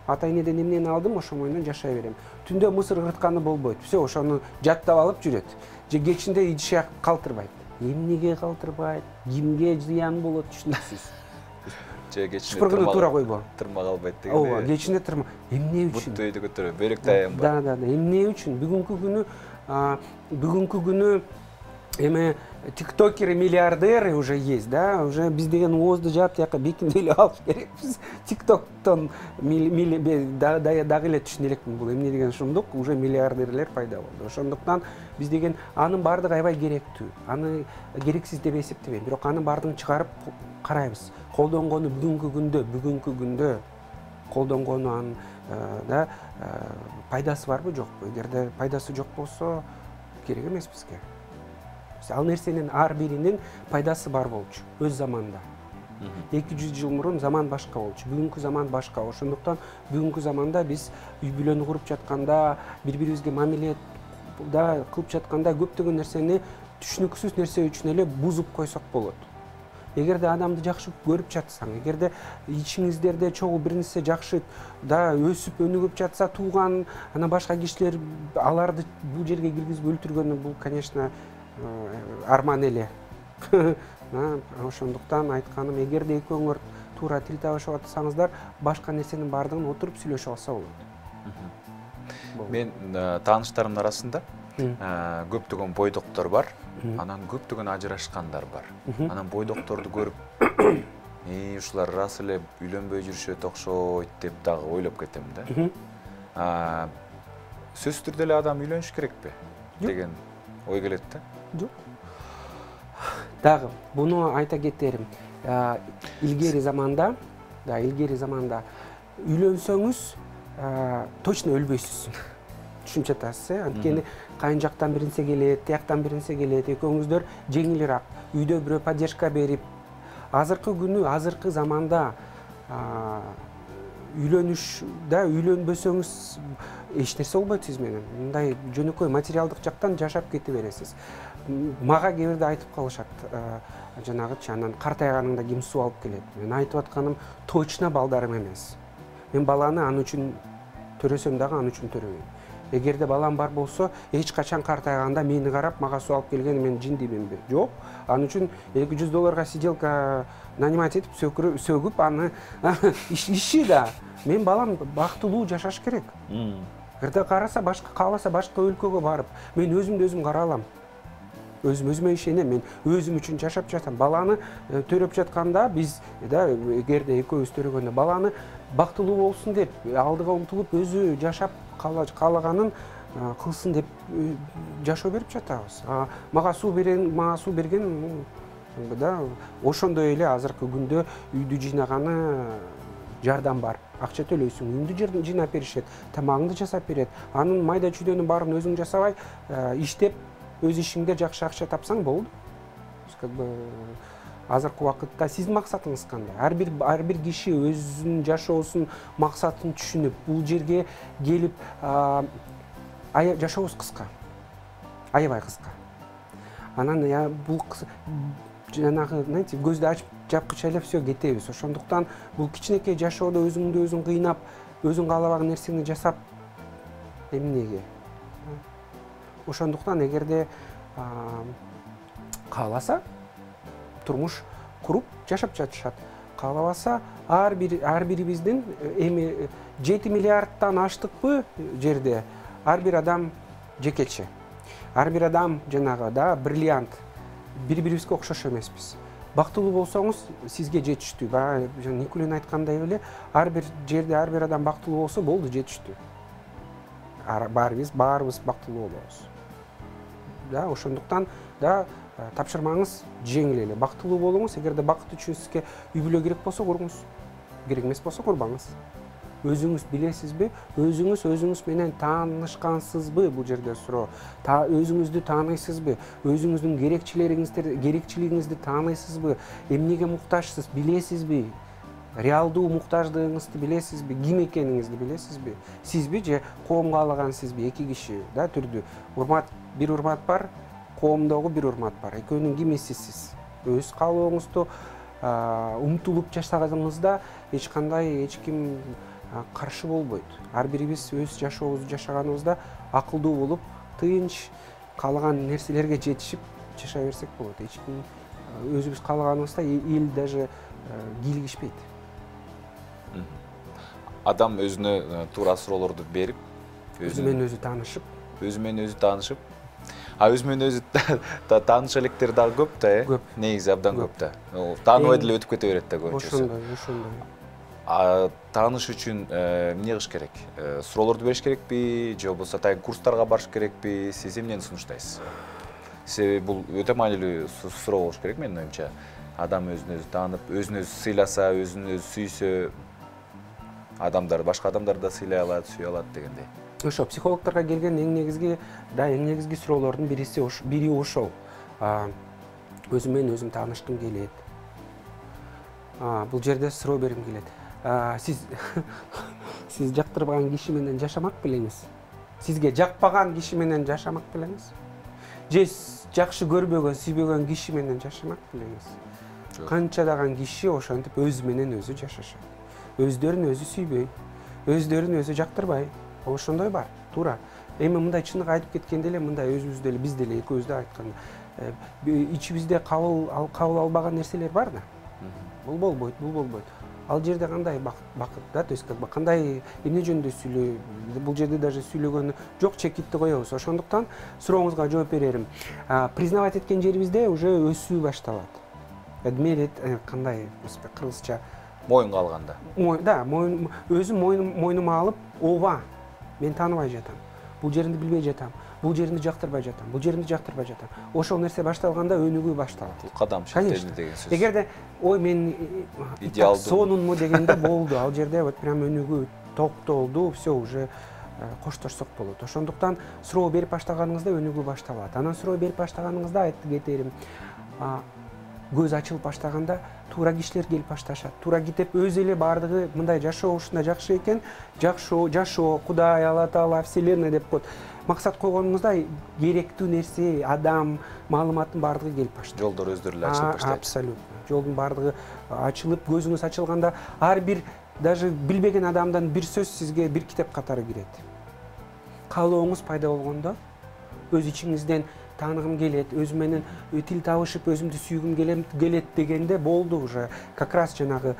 Ата энеден эмнени алдым, ошо менен жашай берем. Түндө мусор кыртканы болбойт. Все, ошону жаттап алып жүрөт. Же кечинде идишак калтырбайт. Эмнеге калтырбайт? Кимге зыян болот, түшүнүксүз. Же кечинде шыпыргыны туура койбо. Тырмак албайт деген. Ооба, кечинде тырмак. Эмне үчүн? Буттойду көтөрөп, бөлөк тайым бар. Да, эмне үчүн? Бүгүнкү күнү эме тиктокеры, миллиардеры уже есть, да, уже биз деген оозду жаап тияка бекинип эле алыш керекпиз. Тиктоктон дагы эле түшүнө элекмин, бул эмне деген шумдук, уже миллиардерлер пайда болду. Ошондуктан биз деген анын баардыгы аябай керектүү. Аны керексиз деп эсептебейм, бирок анын баардыгын чыгарып карайбыз. Колдонгону бүгүнкү күндө колдонгону анын, да, пайдасы барбы жокпу? Эгерде пайдасы жок болсо, керек эмес бизге. Ал нерсенин ар биринин пайдасы бар болчу өз заманда. 200 жыл мурун заман башка болчу, бүгүнкү заман башка. Ошондуктан бүгүнкү заманда биз үй бүлөнү куруп жатканда, бири-бирибизге мамиле да кылып жатканда көптөгөн нерсени түшүнүксүз нерсе үчүн эле бузуп койсок болот. Эгерде адамды жакшы көрүп жатсаң, эгерде ичиңиздерде чогуу бир нерсе жакшы да өсүп өнүгүп жатса, тууган, ана башка кишилер аларды бул жерге киргизип өлтүргөнү, бул, конечно, арман эле. Ошондуктан айтканым, эгерде экөөңөр туура тил табышып атсаңыздар, башка нерсенин баардыгын отуруп сүйлөшүп алса болот. Мен тааныштарымдын арасында көптөгөн бойдоктор бар, анан көптөгөн ажырашкандар бар. Анан бойдокторду көрүп, ушулар рас эле үйлөнбөй жүрүшөт окшойт деп дагы ойлоп кетем да. Сөзсүз түрдө эле адам үйлөнүш керекпи деген ой келет да. Жок. Дагы буну айта кетерим. Илгери заманда үйлөнсөңүз точно өлбөйсүз. Түшүнүп жатасыз, анткени кайын жактан бир нерсе келет, тияктан бир нерсе келет, экөөңүздөр жеңилирээк, үйдө бирөө поддержка берип, азыркы заманда үйлөнбөсөңүз эч нерсе болбойт сиз менен. Мындай жөнөкөй материалдык жактан жашап кете бересиз. Мага кээ бирде айтып калышат, жанагычы, анан картайганыңда ким суу алып келет? Мен айтып атканым, точно балдарым эмес. Мен баланы аны үчүн төрөсөм дагы аны үчүн төрөбөйм. Эгерде балам бар болсо, эч качан картайганда мени карап, мага суу алып келген мен жиндиминби? Жок. Аны үчүн $200 сиделка нанимать этип сөгүп аны иши да. Мен балам бактылуу жашаш керек. Эгерде кааласа башка өлкөгө барып, мен өзүмдү өзүм кара алам. Өзүмө ишенем, мен өзүм үчүн жашап жатам. Баланы төрөп жатканда биз, да, эгерде экөөбүз төрөгөндө баланы бактылуу болсун деп, алдыга умтулуп өзү жашап каалаганын кылсын деп жашоо берип жатабыз. Мага суу берген, да, ошондой эле азыркы күндө үйдү жыйнаганы жардам бар. Акча төлөйсүң, үйүңдү жыйнап беришет, тамагыңды жасап берет. Анын майда чүйдөнүн баарын өзүң жасабай, иштеп, өз ишиңде жакшы акча тапсаң болду. Как бы азыркы убакытта сиздин максатыңыз кандай? Ар бир киши өзүнүн жашоосунун максатын түшүнүп, бул жерге келип, жашообуз кыска. Аябай кыска. Анан бул жанагы, знаете, көздү ачып жапкыча эле все кетебиз. Ошондуктан бул кичинекей жашоодо өзүңдү өзүң кыйнап, өзүң каалабаган нерсени жасап эмнеге? Ошондуктан эгерде кааласа турмуш куруп жашап жатышат. Каалабаса ар бирибиздин эми 7 миллиардтан аштыкпы жерде ар бир адам жекече. Ар бир адам жанагы бриллиант. Бири-бирибизге окшош эмеспиз. Бактылуу болсоңуз сизге жетиштүү. Баягы Никулин айткандай эле, ар бир жерде ар бир адам бактылуу болсо болду, жетиштүү. Баарыбыз бактылуу болобуз. Ошондуктан тапшырмаңыз жеңил эле. Бактылуу болуңуз. Эгерде бакыт үчүн сизге үй бүлө керек болсо куруңуз. Керек эмес болсо курбаңыз. Өзүңүз билесизби? Өзүңүз менен таанышкансызбы бул жерде суроо. Өзүңүздү тааныйсызбы? Өзүңүздүн керекчилигиңизди тааныйсызбы? Эмнеге муктажсыз билесизби? Реалдуу муктаждыгыңызды билесизби? Ким экениңизди билесизби? Сизби же коом каалаган сизби? Эки киши түрдүү. Бир урмат бар, коомдогу бир урмат бар. Экөөнүн кимисисиз? Өз каалооңузду умтулуп жашаганыңызда эч ким каршы болбойт. Ар бирибиз өз жашообузду жашаганыбызда акылдуу болуп, тынч каалаган нерселерге жетишип жашай берсек болот. Эч ким өзүбүз каалаганыбызда эл даже кийлигишпейт. Адам өзүнө туура суроолорду берип, өзү менен өзү таанышып, өзү менен өзү тааныша элекер дагы көп да, Көп. Негизи абдан көп да. Тааныбай деле өтүп кете берет да көбүнчөсү. Ошондой. Тааныш үчүн эмне кылыш керек? Суроолорду бериш керекпи, же болбосо тайын курстарга барыш керекпи? Сиз эмнени сунуштайсыз? Себеби бул өтө маанилүү суроо болуш керек менин оюмча. Адам өзүн өзү таанып, өзүн өзү сыйласа, өзүн өзү сүйсө, башка адамдарды да сыйлай алат, сүйө алат дегендей. Ошо психологдорго келген эң негизги суроолордун бири ошол. Өзүм менен өзүм таанышкым келет. Бул жерде суроо бергим келет. Сиз жактырбаган киши менен жашамак белеңиз? Сизге жакпаган киши менен жашамак белеңиз? Же жакшы көрбөгөн, сүйбөгөн киши менен жашамак белеңиз? Канчадаган киши ошентип өзү менен өзү жашашат. Өздөрүн өзү сүйбөй, өздөрүн өзү жактырбай. Ошондой бар, туура. Эми мындай чындык айтып кеткенде эле, мындай өзүбүз деле, биз деле экөөбүз да айтканда, ичибизде кабыл албаган нерселер бар да. Бул болбойт. Ал жерде кандай бакыт да, то есть кандай эмне жөнүндө сүйлөй, бул жерде даже сүйлөгөнү жок, чекитти коебуз. Ошондуктан сурооңузга жооп берерим. Признавать эткен жерибизде уже өсүү башталат. Адмет кандай, кыргызча Моюнга алганда. Өзүм мойнума алып, ооба, мен тааныбай жатам. Бул жеринди билбей жатам. Бул жеринди жактырбай жатам. Ошол нерсе башталганда өнүгүү башталат. Бул кадам шектелди деген сөз. Эгерде мен сонунму дегенде болду. Ал жерде вот прям өнүгүү токтолду, все уже коштошсок болот. Ошондуктан суроо берип баштаганыңызда өнүгүү башталат. Анан суроо берип баштаганыңызда айтып кетерим. Көз ачылып баштаганда туура кишилер келип башташат. Туура кетип өзү эле баардыгы мындай жашоо ушундай жакшы экен, жашоо, Кудай, Алла Таала, Вселенная деп коет. Максат койгонуңузда керектүү нерсе, адам, маалыматтын баардыгы келип баштайт. Жолдор өздөрү эле ачылып баштайт. Абсолютно. Жолдун баардыгы ачылып, көзүңүз ачылганда ар бир даже билбеген адамдан бир сөз сизге бир китеп катары кирет. Каалооңуз пайда болгондо өз ичиңизден тааныгым келет, өзүм менен тил табышып, өзүмдү сүйгүм келет дегенде болду уже. Как раз жанагы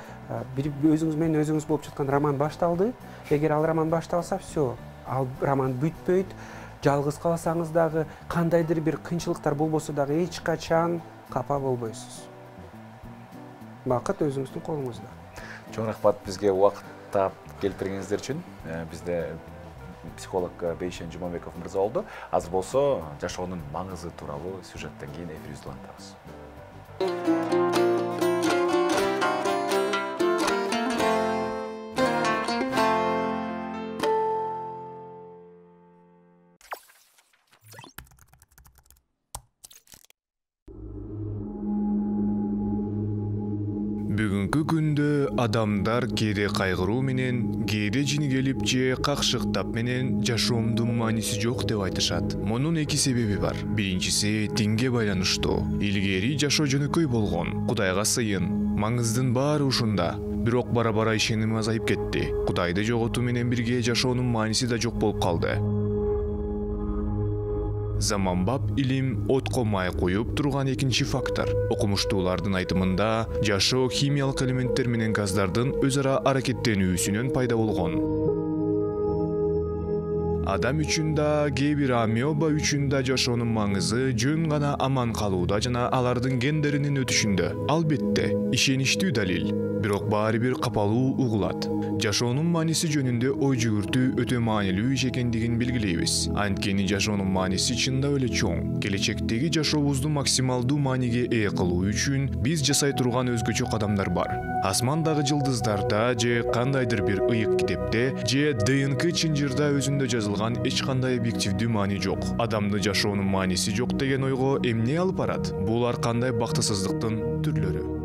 өзүңүз менен өзүңүз болуп жаткан роман башталды. Эгер ал роман башталса, все, ал роман бүтпөйт. Жалгыз калсаңыз дагы, кандайдыр бир кыйынчылыктар болбосо дагы эч качан капа болбойсуз. Бакыт өзүңүздүн колуңузда. Чоң рахмат бизге убакыт таап келтиргениңиздер үчүн. Бизде психолог Бейшен Жумабеков мырза болду. Азыр болсо жашоонун маңызы тууралуу сюжеттен кийин эфирибизди улантабыз. Бүгүнкү күндө адамдар кээде кайгыруу менен, кээде жингелип же какшыктап менен жашоомдун мааниси жок деп айтышат. Мунун эки себеби бар. Биринчиси тиңге байланыштуу. Илгери жашоо жөнөкөй болгон. Кудайга сыйын. Маңыздын баары ушунда. Бирок бара-бара ишеним азайып кетти. Кудайды жоготуу менен бирге жашоонун мааниси да жок болуп калды. Заманбап илим отко май коюп турган экинчи фактор. Окумуштуулардын айтымында, жашоо химиялык элементтер менен газдардын өз ара аракеттенүүсүнөн пайда болгон. Адам үчүн да, кээ бир амеба үчүн да жашоонун маңызы жөн гана аман калууда жана алардын гендеринин өтүшүндө. Албетте, ишеничтүү далил. Бирок баары бир капалуу угулат. Жашоонун мааниси жөнүндө ой жүгүртүү өтө маанилүү иш экендигин белгилейбиз. Анткени жашоонун мааниси чындап эле чоң. Келечектеги жашообузду максималдуу мааниге ээ кылуу үчүн биз жасай турган өзгөчө кадамдар бар. Асмандагы жылдыздарда же кандайдыр бир ыйык китепте же ДНК чынжырда өзүндө жазылган эч кандай объективдүү маани жок. Адамды жашоонун мааниси жок деген ойго эмне алып барат? Бул ар кандай бактысыздыктын түрлөрү.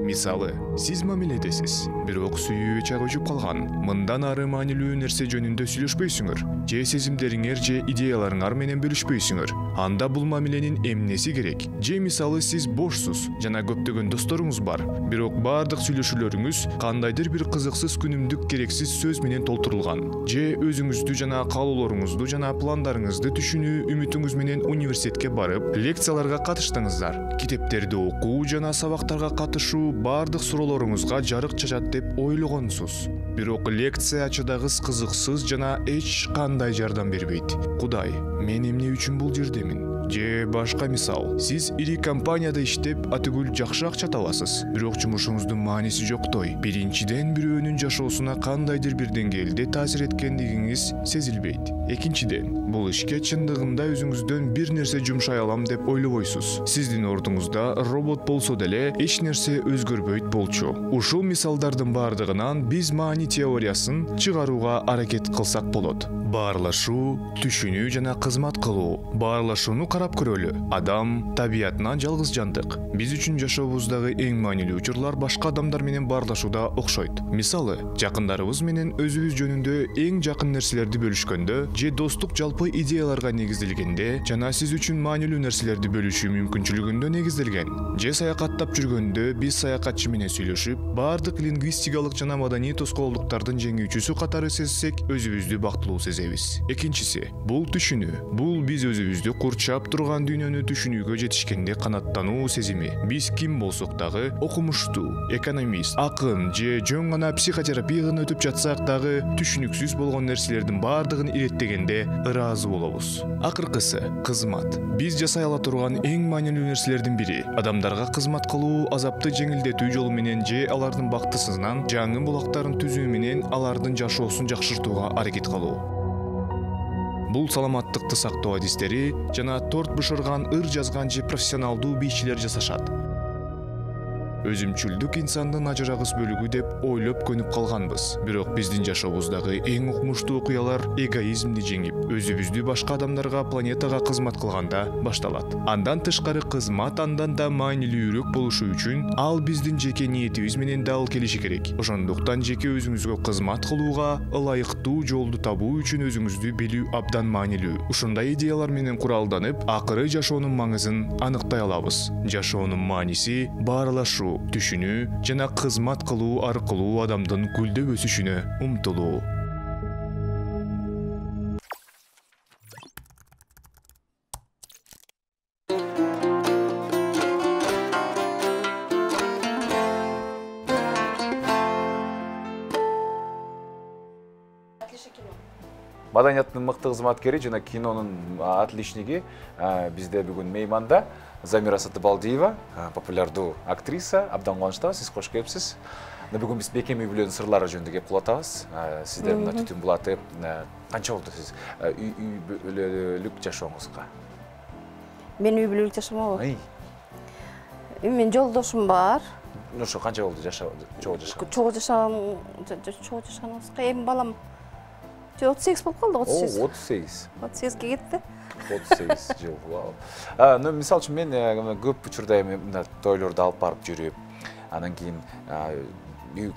Мисалы, сиз мамиледесиз, бирок сүйүү чак өчүп калган. Мындан ары маанилүү нерсе жөнүндө сүйлөшпөйсүңөр, же сезимдериңер же идеяларыңар менен бөлүшпөйсүңөр. Анда бул мамиленин эмнеси керек? Же мисалы сиз бошсуз жана көптөгөн досторуңуз бар, бирок баардык сүйлөшүүлөрүңүз кандайдыр бир кызыксыз күнүмдүк керексиз сөз менен толтурулган. Же өзүңүздү жана каалоолоруңузду жана пландарыңызды түшүнүү үмүтүңүз менен университетке барып, лекцияларга катыштыңыздар. Китептерди окуу жана сабактарга катышуу баардык суроолоруңузга жарык чачат деп ойлогонсуз. Бирок лекция ачыдагыс кызыксыз жана эч кандай жардам бербейт. Кудай, мен эмне үчүн бул жердемин? Же башка мисал, сиз ири компанияда иштеп, атүгүл жакшы акча табасыз, бирок жумушуңуздун мааниси жоктой. Биринчиден, бирөөнүн жашоосуна кандайдыр бир деңгээлде таасир эткендигиңиз сезилбейт. Экинчиден, бул ишке чындыгында өзүңүздөн бир нерсе жумшай алам деп ойлобойсуз. Сиздин ордуңузда робот болсо деле эч нерсе өзгөрбөйт болчу. Ушул мисалдардын баардыгынан биз маани теориясын чыгарууга аракет кылсак болот. Баарлашуу, түшүнүү жана кызмат кылуу. Баарлашууну карап көрөлү. Адам табиятынан жалгыз жандык. Биз үчүн жашообуздагы эң маанилүү учурлар башка адамдар менен баарлашууда окшойт. Мисалы, жакындарыбыз менен өзүбүз жөнүндө эң жакын нерселерди бөлүшкөндө, же достук жалпы идеяларга негизделгенде, жана сиз үчүн маанилүү нерселерди бөлүшүү мүмкүнчүлүгүндө негизделген. Же саякаттап жүргөндө биз саякатчы менен сүйлөшүп, баардык лингвистикалык жана маданий тоскоолдуктардын жеңүүчүсү катары сезсек, өзүбүздү бактылуу сезебиз. Экинчиси, бул түшүнүү. Бул биз өзүбүздү курчап турган дүйнөнү түшүнүүгө жетишкенде канаттануу сезими. Биз ким болсок дагы, окумуштуу, экономист, акын же жөн гана психотерапиядан өтүп жатсак дагы, түшүнүксүз болгон нерселердин баардыгын иретегенде ыраазы болобуз. Акыркысы, кызмат. Биз жасай ала турган эң маанилүү нерселердин бири адамдарга кызмат кылуу, азапты жеңилдетүү жолу менен же алардын бактысынан жаңы булактарын түзүү менен алардын жашоосун жакшыртууга аракет кылуу. Бул саламаттыкты сактоо адистери жана торт бышырган, ыр жазган же профессионалдуу бийчилер жасашат. Өзүмчүлдүк инсандын ажырагыс бөлүгү деп ойлоп көнүп калганбыз. Бирок биздин жашообуздагы эң укмуштуу окуялар эгоизмди жеңип, өзүбүздү башка адамдарга, планетага кызмат кылганда башталат. Андан тышкары кызмат андан да маанилүүрөөк болушу үчүн ал биздин жеке ниетибиз менен дал келиши керек. Ошондуктан жеке өзүңүзгө кызмат кылууга ылайыктуу жолду табуу үчүн өзүңүздү билүү абдан маанилүү. Ушундай идеялар менен куралданып, акыры жашоонун маңызын аныктай алабыз. Жашоонун мааниси баарлашуу, түшүнүү жана кызмат кылуу аркылуу адамдын гүлдөп өсүшүнө умтулуу. Маданияттын мыкты кызматкери жана кинонун отличниги бизде бүгүн мейманда Замира Сатыбалдиева, популярдуу актриса. Абдан кубанычтабыз, сиз кош келипсиз. Бүгүн биз Бекем үй бүлөнүн сырлары жөнүндө кеп кулатабыз. Сиздер мына түтүн булатып, канча болду сиз үй бүлөлүк жашооңузга? Мен үй бүлөлүк жашамабы. Мен жолдошум бар. ошо канча болду чогуу жашаган? Чогуу жашаганыбызга эми балам 38 болуп калды, 38. 38. 38ге кетти. 38 жыл. Вау. Мисалы үчүн мен көп учурда эми мындай тойлорду алып барып жүрүп, анан кийин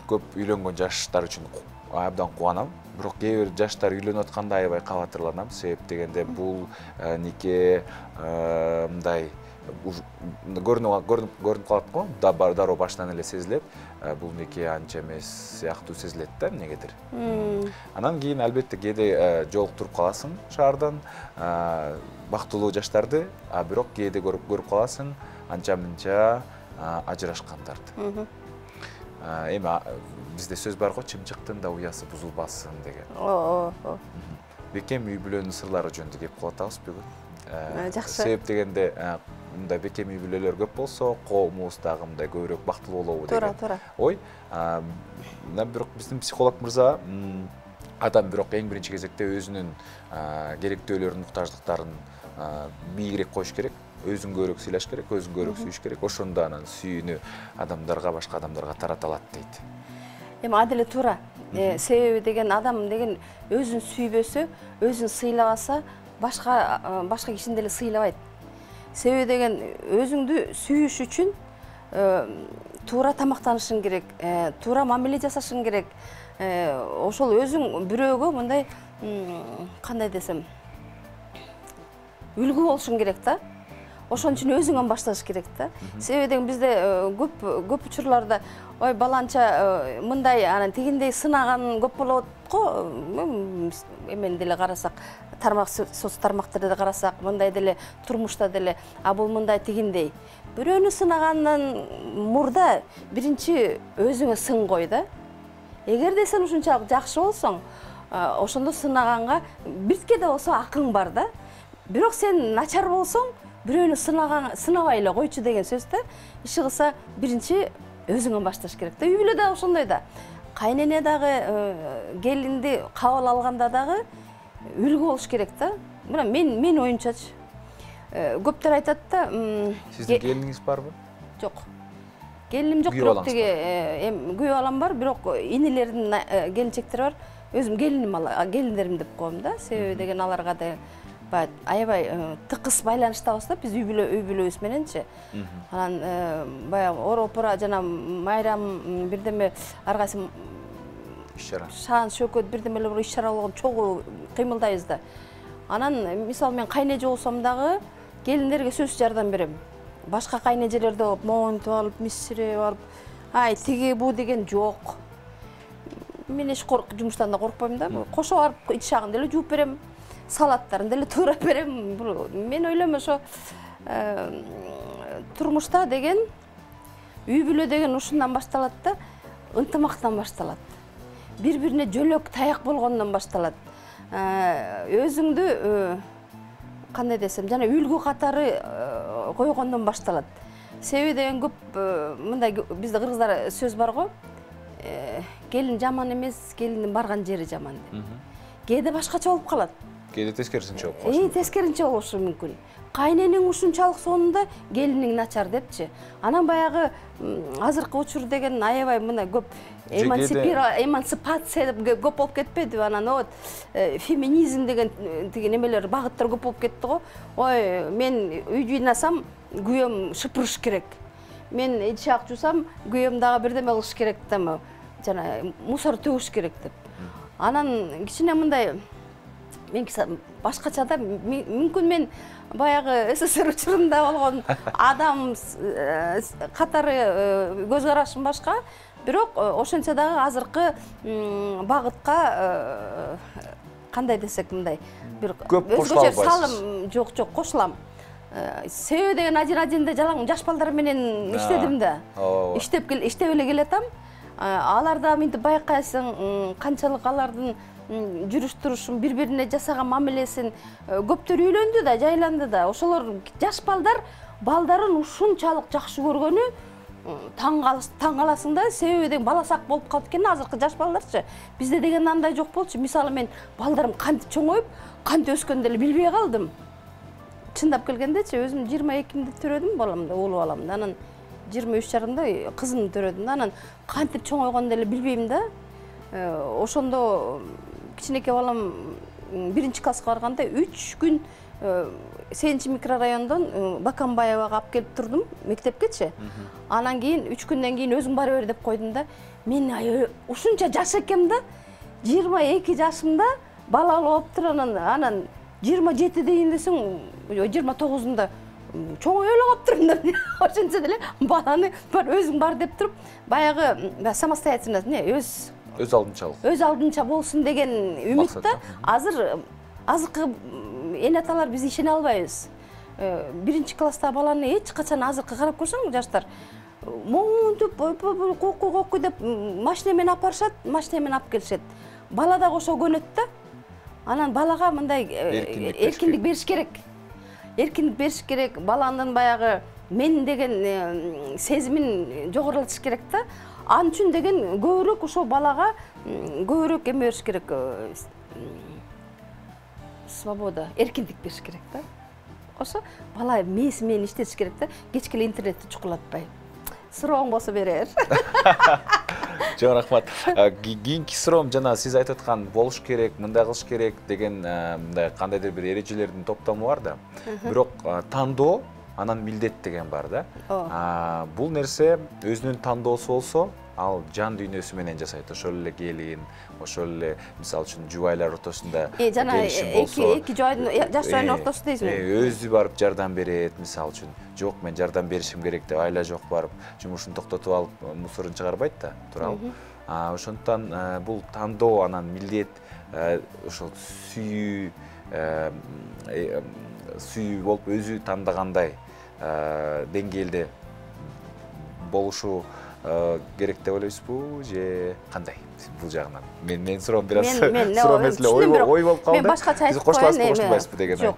көп үйлөнгөн жаштар үчүн абдан кубанам. Бирок кээ бир жаштар үйлөнүп атканда аябай кабатырланам. Себеп дегенде бул нике мындай көрүнүп калат го. Дароо башынан эле сезилет. Бул нике анча эмес сыяктуу сезилет да эмнегедир. Анан кийин албетте кээде жолуктуруп каласың шаардан бактылуу жаштарды, бирок кээде көрүп каласың анча-мынча ажырашкандарды. Эми бизде сөз бар го, чымчыктын да уясы бузулбасын деген. Бекем үй бүлөнүн сырлары жөнүндө кеп кылып атабыз бүгүн. Жакшы. Себеп дегенде мындай бекем үй бүлөлөр көп болсо, коомубуз дагы мындай көбүрөөк бактылуу болобу деген. Туура. Ой, бирок биздин психолог мырза адам бирок эң биринчи кезекте өзүнүн керектөөлөрүн, муктаждыктарын бийигирээк коюш керек. Өзүн көбүрөөк сыйлаш керек, өзүн көбүрөөк сүйүш керек. Ошондо анан сүйүүнү адамдарга, башка адамдарга тарата алат дейт. Эми аделе туура. Себеби деген адам деген өзүн сүйбөсө, өзүн сыйлабаса, башка кишини деле сыйлабайт. Себеби деген өзүңдү сүйүш үчүн туура тамактанышың керек, туура мамиле жасашың керек. Ошол өзүң бирөөгө мындай кандай десем, үлгү болушуң керек да. Ошон үчүн өзүңөн башташ керек да. Себеби деген бизде көп учурларда ой баланча мындай анан тигиндей сынаган көп болот го. Эмен деле карасак, соц тармактарды карасак, мындай деле турмушта деле, бул мындай тигиндей. Бирөөнү сынагандан мурда биринчи өзүңө сын кой да. Эгерде сен ушунчалык жакшы болсоң, ошондо сынаганга биртке да болсо акың бар да. Бирок сен начар болсоң, бирөөнү сынабай эле койчу деген сөз да. Иши кылса биринчи өзүңөн башташ керек да. Үй бүлө да ошондой да. Кайнене дагы келинди кабыл алганда дагы үлгү болуш керек да. Мына мен оюнчачы. Көптөр айтат да. Сиздин келиниңиз барбы? Жок. Келиним жок, бирок тиги күйөө балам бар, бирок инилердин келинчектери бар. Өзүм келиндерим деп коем да. Себеби деген аларга да аябай тыкыз байланыштабыз да биз үй бүлөбүз мененчи. Анан баягы оропура жана майрам бирдеме ар кайсы иш-чара. Шаан шөкөт бирдемелер бар иш-чара болгон чогуу кыймылдайбыз да. Анан мисалы мен кайнеже болсом дагы келиндерге сөзсүз жардам берем. Башка кайнежелерде болуп, моонтуп алып, миссирип алып, тиги бу деген жок. Мен эч жумуштан да коркпойм да. Кошо барып ичагын деле жууп берем. Салаттарын деле туура берем. Мен ойлойм ошо турмушта деген үй бүлө деген ушундан башталат да, ынтымактан башталат. Бири-бирине жөлөк таяк болгондон башталат. Өзүңдү кандай десем, жана үлгү катары койгондон башталат. Себеби деген көп мындай бизде кыргыздар сөз бар го. Келин жаман эмес, келиндин барган жери жаман деп. Кээде башкача болуп калат. Кээде тескерисинче болуп калат. Тескерисинче болушу мүмкүн. Кайненең ушунчалык сонунда келиниң начар депчи. Анан баягы азыркы учур деген аябай мына көп эмансипация деп көп болуп кетпедиби? Анан вот феминизм деген тиги немелер, багыттар көп болуп кетти го. Ой, мен үй жыйнасам, күйөөм шыпырыш керек. Мен ичак жуусам, күйөөм дагы бирдеме кылыш керек да, жана мусор төгүш керек деп. Анан кичине мындай мен башкача да, мүмкүн мен баягы СССР учурунда болгон адам катары көз карашым башка, бирок ошентсе дагы азыркы багытка кандай десек мындай бир өзгөчө салым жок, кошулам. Себеби деген один-одинде жалаң жаш балдар менен иштедим да. Иштеп эле келатам. Аларда мынтип байкайсың, канчалык алардын жүрүш-турушун, бири-бирине жасаган мамилесин. Көптөр үйлөндү да, жайланды да. Ошолор жаш балдарын ушунчалык жакшы көргөнү таң каласың да. Себеби деген баласак болуп калды экен азыркы жаш балдарчы. Бизде деген андай жок болчу. Мисалы мен балдарым кантип чоңоюп, кантип өскөндү эле билбей калдым. Чындап келгендечи, өзүм 22-мде төрөдүм баламды, улуу баламды. Анан 23,5 кызымды төрөдүм да. Анан кантип чоңойгонду эле билбейм да. Ошондо кичинекей балам 1-класска барганда 3 күн 8 микрорайондон Бакамбаевага алып келип турдум мектепкечи. Анан кийин 3 күндөн кийин өзүң бара бер деп койдум да. Мен ушунча жаш экем да. 22 жашымда бала алып тур, анан 27 дейин десең, 29-unda чоңой эле калып турмун да. Ошентсе деле баланы бар өзүң бар деп туруп, баягы самостоятельность, өз алдынча болсун деген үмүттө. Азыр азыркы эне аталар биз ишене албайбыз. 1-класстагы баланы эч качан азыркы карап көрсөң жаштар монтуп кокуй деп машина менен алып барышат, машина менен алып келишет. Бала да ошо көнөт да. Анан балага мындай эркиндик бериш керек. Эркиндик бериш керек. Баланын баягы мен деген сезимин жогорулатыш керек да. Ал үчүн деген көбүрөөк ошо балага көбүрөөк эме бериш керек. Свобода, эркиндик бериш керек да. Ошо бала мээси менен иштетиш керек да. Кечке эле интернетти чукулатпай. Сурооң болсо берер. Жок, рахмат. Кийинки суроом жана сиз айтып аткан болуш керек, мындай кылыш керек деген мындай кандайдыр бир эрежелердин топтому бар да. Бирок тандоо анан милдет деген бар да. Бул нерсе өзүнүн тандоосу болсо, ал жан дүйнөсү менен жасайт. Ошол эле келин, ошол эле мисалы үчүн жубайлар ортосунда келишим болсо, эки жаштардын ортосунда дейсизби? Өзү барып жардам берет, мисалы үчүн. Жок, мен жардам беришим керек деп айла жок барып жумушун токтотуп алып мусорун чыгарбайт да, туурабы? Ошондуктан бул тандоо анан милдет, ошол сүйүү болуп өзү тандагандай деңгээлде болушу керек деп ойлойсузбу же кандай бул жагынан? Мен суроом бир аз суроо эмес эле ой болуп калды. Мен башкача айтып коштурбайсызбы деген. Жок.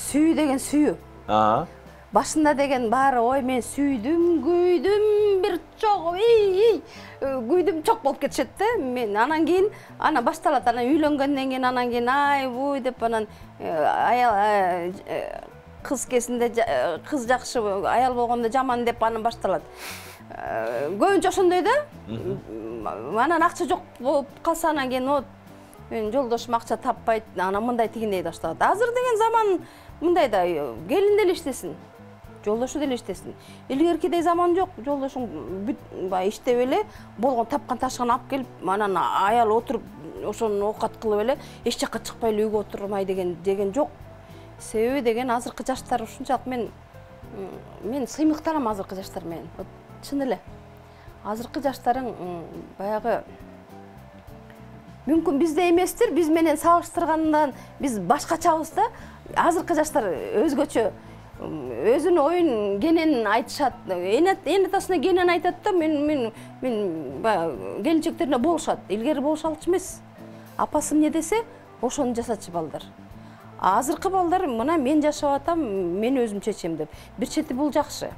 Сүйүү деген сүйүү. Башында деген баары ой мен сүйдүм, күйдүм, бир чок, күйдүм чок болуп кетишет да. Мен анан кийин ана башталат, анан үйлөнгөндөн кийин анан кийин ай буй деп анан аял кыз кезинде кыз жакшы, аял болгондо жаман деп анан башталат. Көбүнчө ошондой да. Анан акча жок болуп калса анан кийин мен жолдошум акча таппайт, анан мындай тигиндей башталат. Азыр деген заман мындай да, келин деле иштесин, жолдошу деле иштесин. Илгеркидей заман жок, жолдошуң иштеп эле болгон тапкан ташыгын алып келип, анан аял отуруп ошону оокат кылып эле эч жакка чыкпай эле үйгө отурмай деген жок. Себеби деген азыркы жаштар ушунчалык мен сыймыктанам азыркы жаштар менен. Чын эле. Азыркы жаштарың баягы мүмкүн бизде эместир, биз менен салыштыргандан биз башкачабыз да. Азыркы жаштар өзгөчө өзүнүн оюн кенен айтышат. Эне атасына кенен айтат да, мен келинчектерине болушат. Илгери болуша алчу эмес. Апасы эмне десе, ошону жасачы балдар. Азыркы балдар мына мен жашап атам, мен өзүм чечем деп. Бир чети бул жакшы.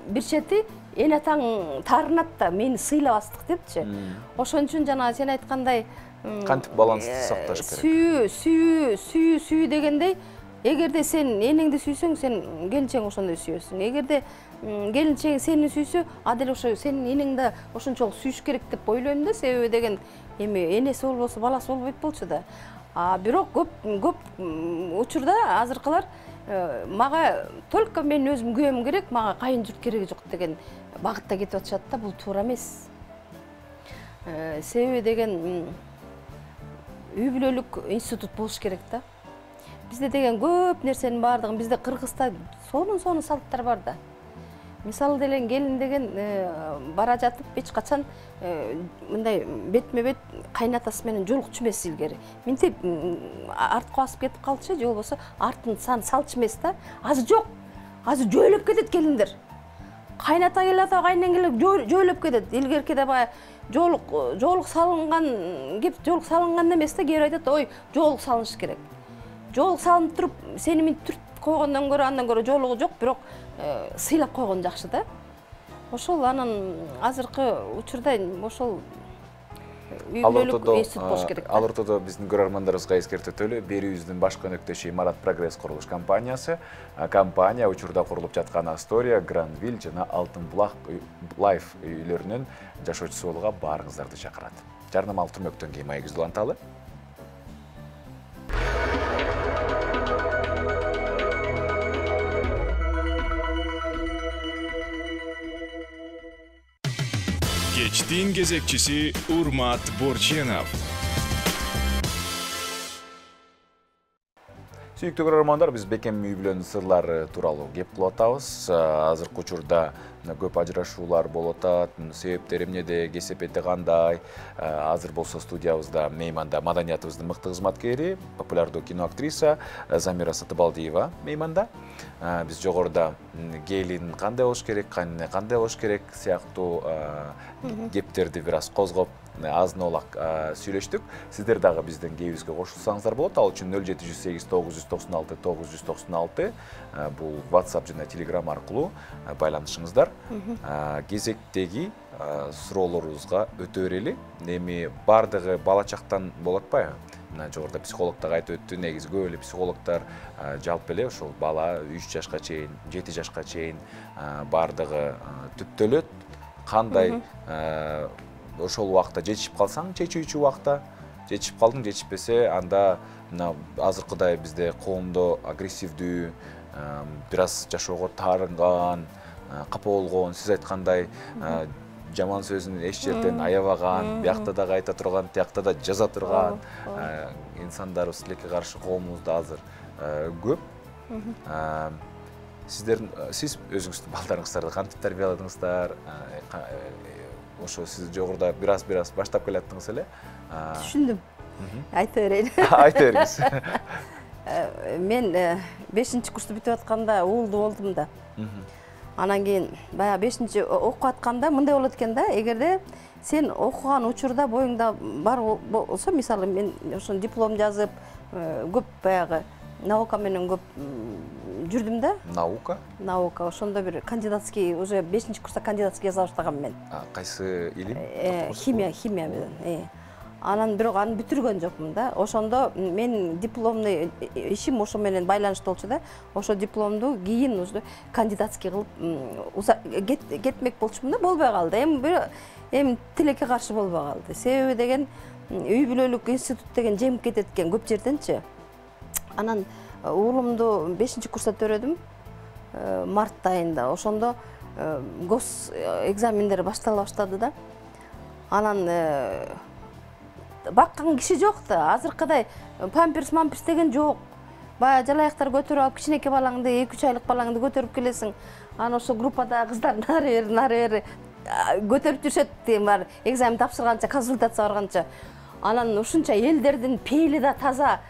Бир чети эне атаң таарынат да, мени сыйлабастык депчи. Ошон үчүн жана сен айткандай кантип балансты сакташ керек. Сүйүү дегендей, эгерде сен энеңди сүйсөң, сен келинчең ошондой сүйөсүң. Эгерде келинчең сени сүйсө, адил ошо сенин энең да ошончолук сүйүш керек деп ойлойм да. Себеби деген энеси болбосо баласы болбойт болчу да. Бирок көп учурда азыркылар мага только мен өзүм күйөөм керек, мага кайын журт кереги жок деген багытта кетип атышат да. Бул туура эмес. Себеби деген үй бүлөлүк институт болуш керек да. Бизде деген көп нерсенин баардыгын, бизде Кыргызда сонун салттар бар да. Мисалы деле келин деген бара жатып эч качан мындай бетме бет кайнатасы менен жолукчу эмес илгери. Минтип артка басып кетип калчу, же болбосо артын салчу эмес да. Азыр жок. Азыр жөөлөп кетет келиндер. Кайната келет, кайнен келет, жөөлөп кетет. Илгеркиде баягы жоолук салынган кеп, жоолук салынган эмес да, кээ бир айтат, ой, жоолук салыныш керек. Жоолук салынып туруп, сени минтип түрт койгондон көрө, андан көрө жоолугу жок, бирок сыйлап койгон жакшы да. Ошол анан азыркы учурда ошол үй бүлөлүк институт болуш керек. Ал ортодо биздин көрөрмандарыбызга эскертетели, берүүбүздүн баш өнөктөшү Марат Прогресс курулуш компаниясы. Компания учурда курулуп жаткан Астория, Гранвилл жана Алтын булак Лайф үйлөрүнүн жашоочусу болууга баарыңыздарды чакырат. Жарнамалык түрмөктөн кийин маегибизди уланталы. Кечтин кезекчиси Урмат Борченов. Сүйүктүү көрөрмандар, биз бекем үй бүлөнүн сырлары тууралуу кеп кылып атабыз. Азыркы учурда көп ажырашуулар болуп атат. Себептери эмнеде, кесепети кандай? Азыр болсо студиябызда мейманда маданиятыбыздын мыкты кызматкери, популярдуу кино актриса Замира Сатыбалдиева мейманда. Биз жогоруда келин кандай болуш керек, кандай болуш керек сыяктуу кептерди бир аз козгоп, азын-олак сүйлөштүк. Сиздер дагы биздин кебибизге кошулсаңыздар болот. Ал үчүн 0708 996 996 бул WhatsApp жана Telegram аркылуу байланышыңыздар. Кезектеги суроолорубузга өтө берели. Эми бардыгы бала чактан болот атпайбы? Мына жогоруда психолог да айтып өттү, негизи көп эле психологдор жалпы эле ошол бала 3 жашка чейин, 7 жашка чейин бардыгы түптөлөт. Кандай ошол убакта жетишип калсаң, чечүүчү убакта, жетишип калдың, жетишпесе, анда мына азыркыдай бизде коомдо агрессивдүү, бир аз жашоого таарынган, капа болгон, сиз айткандай жаман сөзүн эч жерден аябаган, биякта да айта турган, тиякта да жаза турган инсандарыбыз тилекке каршы коомубузда азыр көп. Сиз өзүңүздүн балдарыңыздарды кантип тарбияладыңыздар? Ошо сиз жогоруда бир аз баштап келаттыңыз эле. Түшүндүм. Айта берейин. Айта бериңиз. Мен 5-курсту бүтүп атканда уулду болдум да. Анан кийин баягы 5-чи окуп атканда мындай болот экен да, эгерде сен окуган учурда боюңда бар болсо, мисалы мен ошо диплом жазып, көп баягы наука менен көп жүрдүм да. Наука, ошондо бир кандидатский, уже 5-курста кандидатский жаза баштагам мен. Кайсы илим? Химия менен. Анан бирок аны бүтүргөн жокмун да. Ошондо мен дипломный ишим ошо менен байланыштуу болчу да. Ошо дипломду кийин уже кандидатский кылып кетмек болчумун да, болбой калды. Эми тилекке каршы болбой калды. Себеби деген үй бүлөлүк институт деген жемип кетет экен көп жерденчи. Анан уулумду 5-курста төрөдүм март айында. Ошондо гос экзамендер баштала баштады да. Анан баккан киши жок да. Азыркыдай памперс деген жок. Баягы жалаяктар көтөрүп алып, кичинекей балаңды, 2-3 айлык балаңды көтөрүп келесиң. Анан ошо группада кыздар нары бери көтөрүп жүрүшөт, бар экзамен тапшырганча, консультация барганча. Анан ушунча элдердин пейили да таза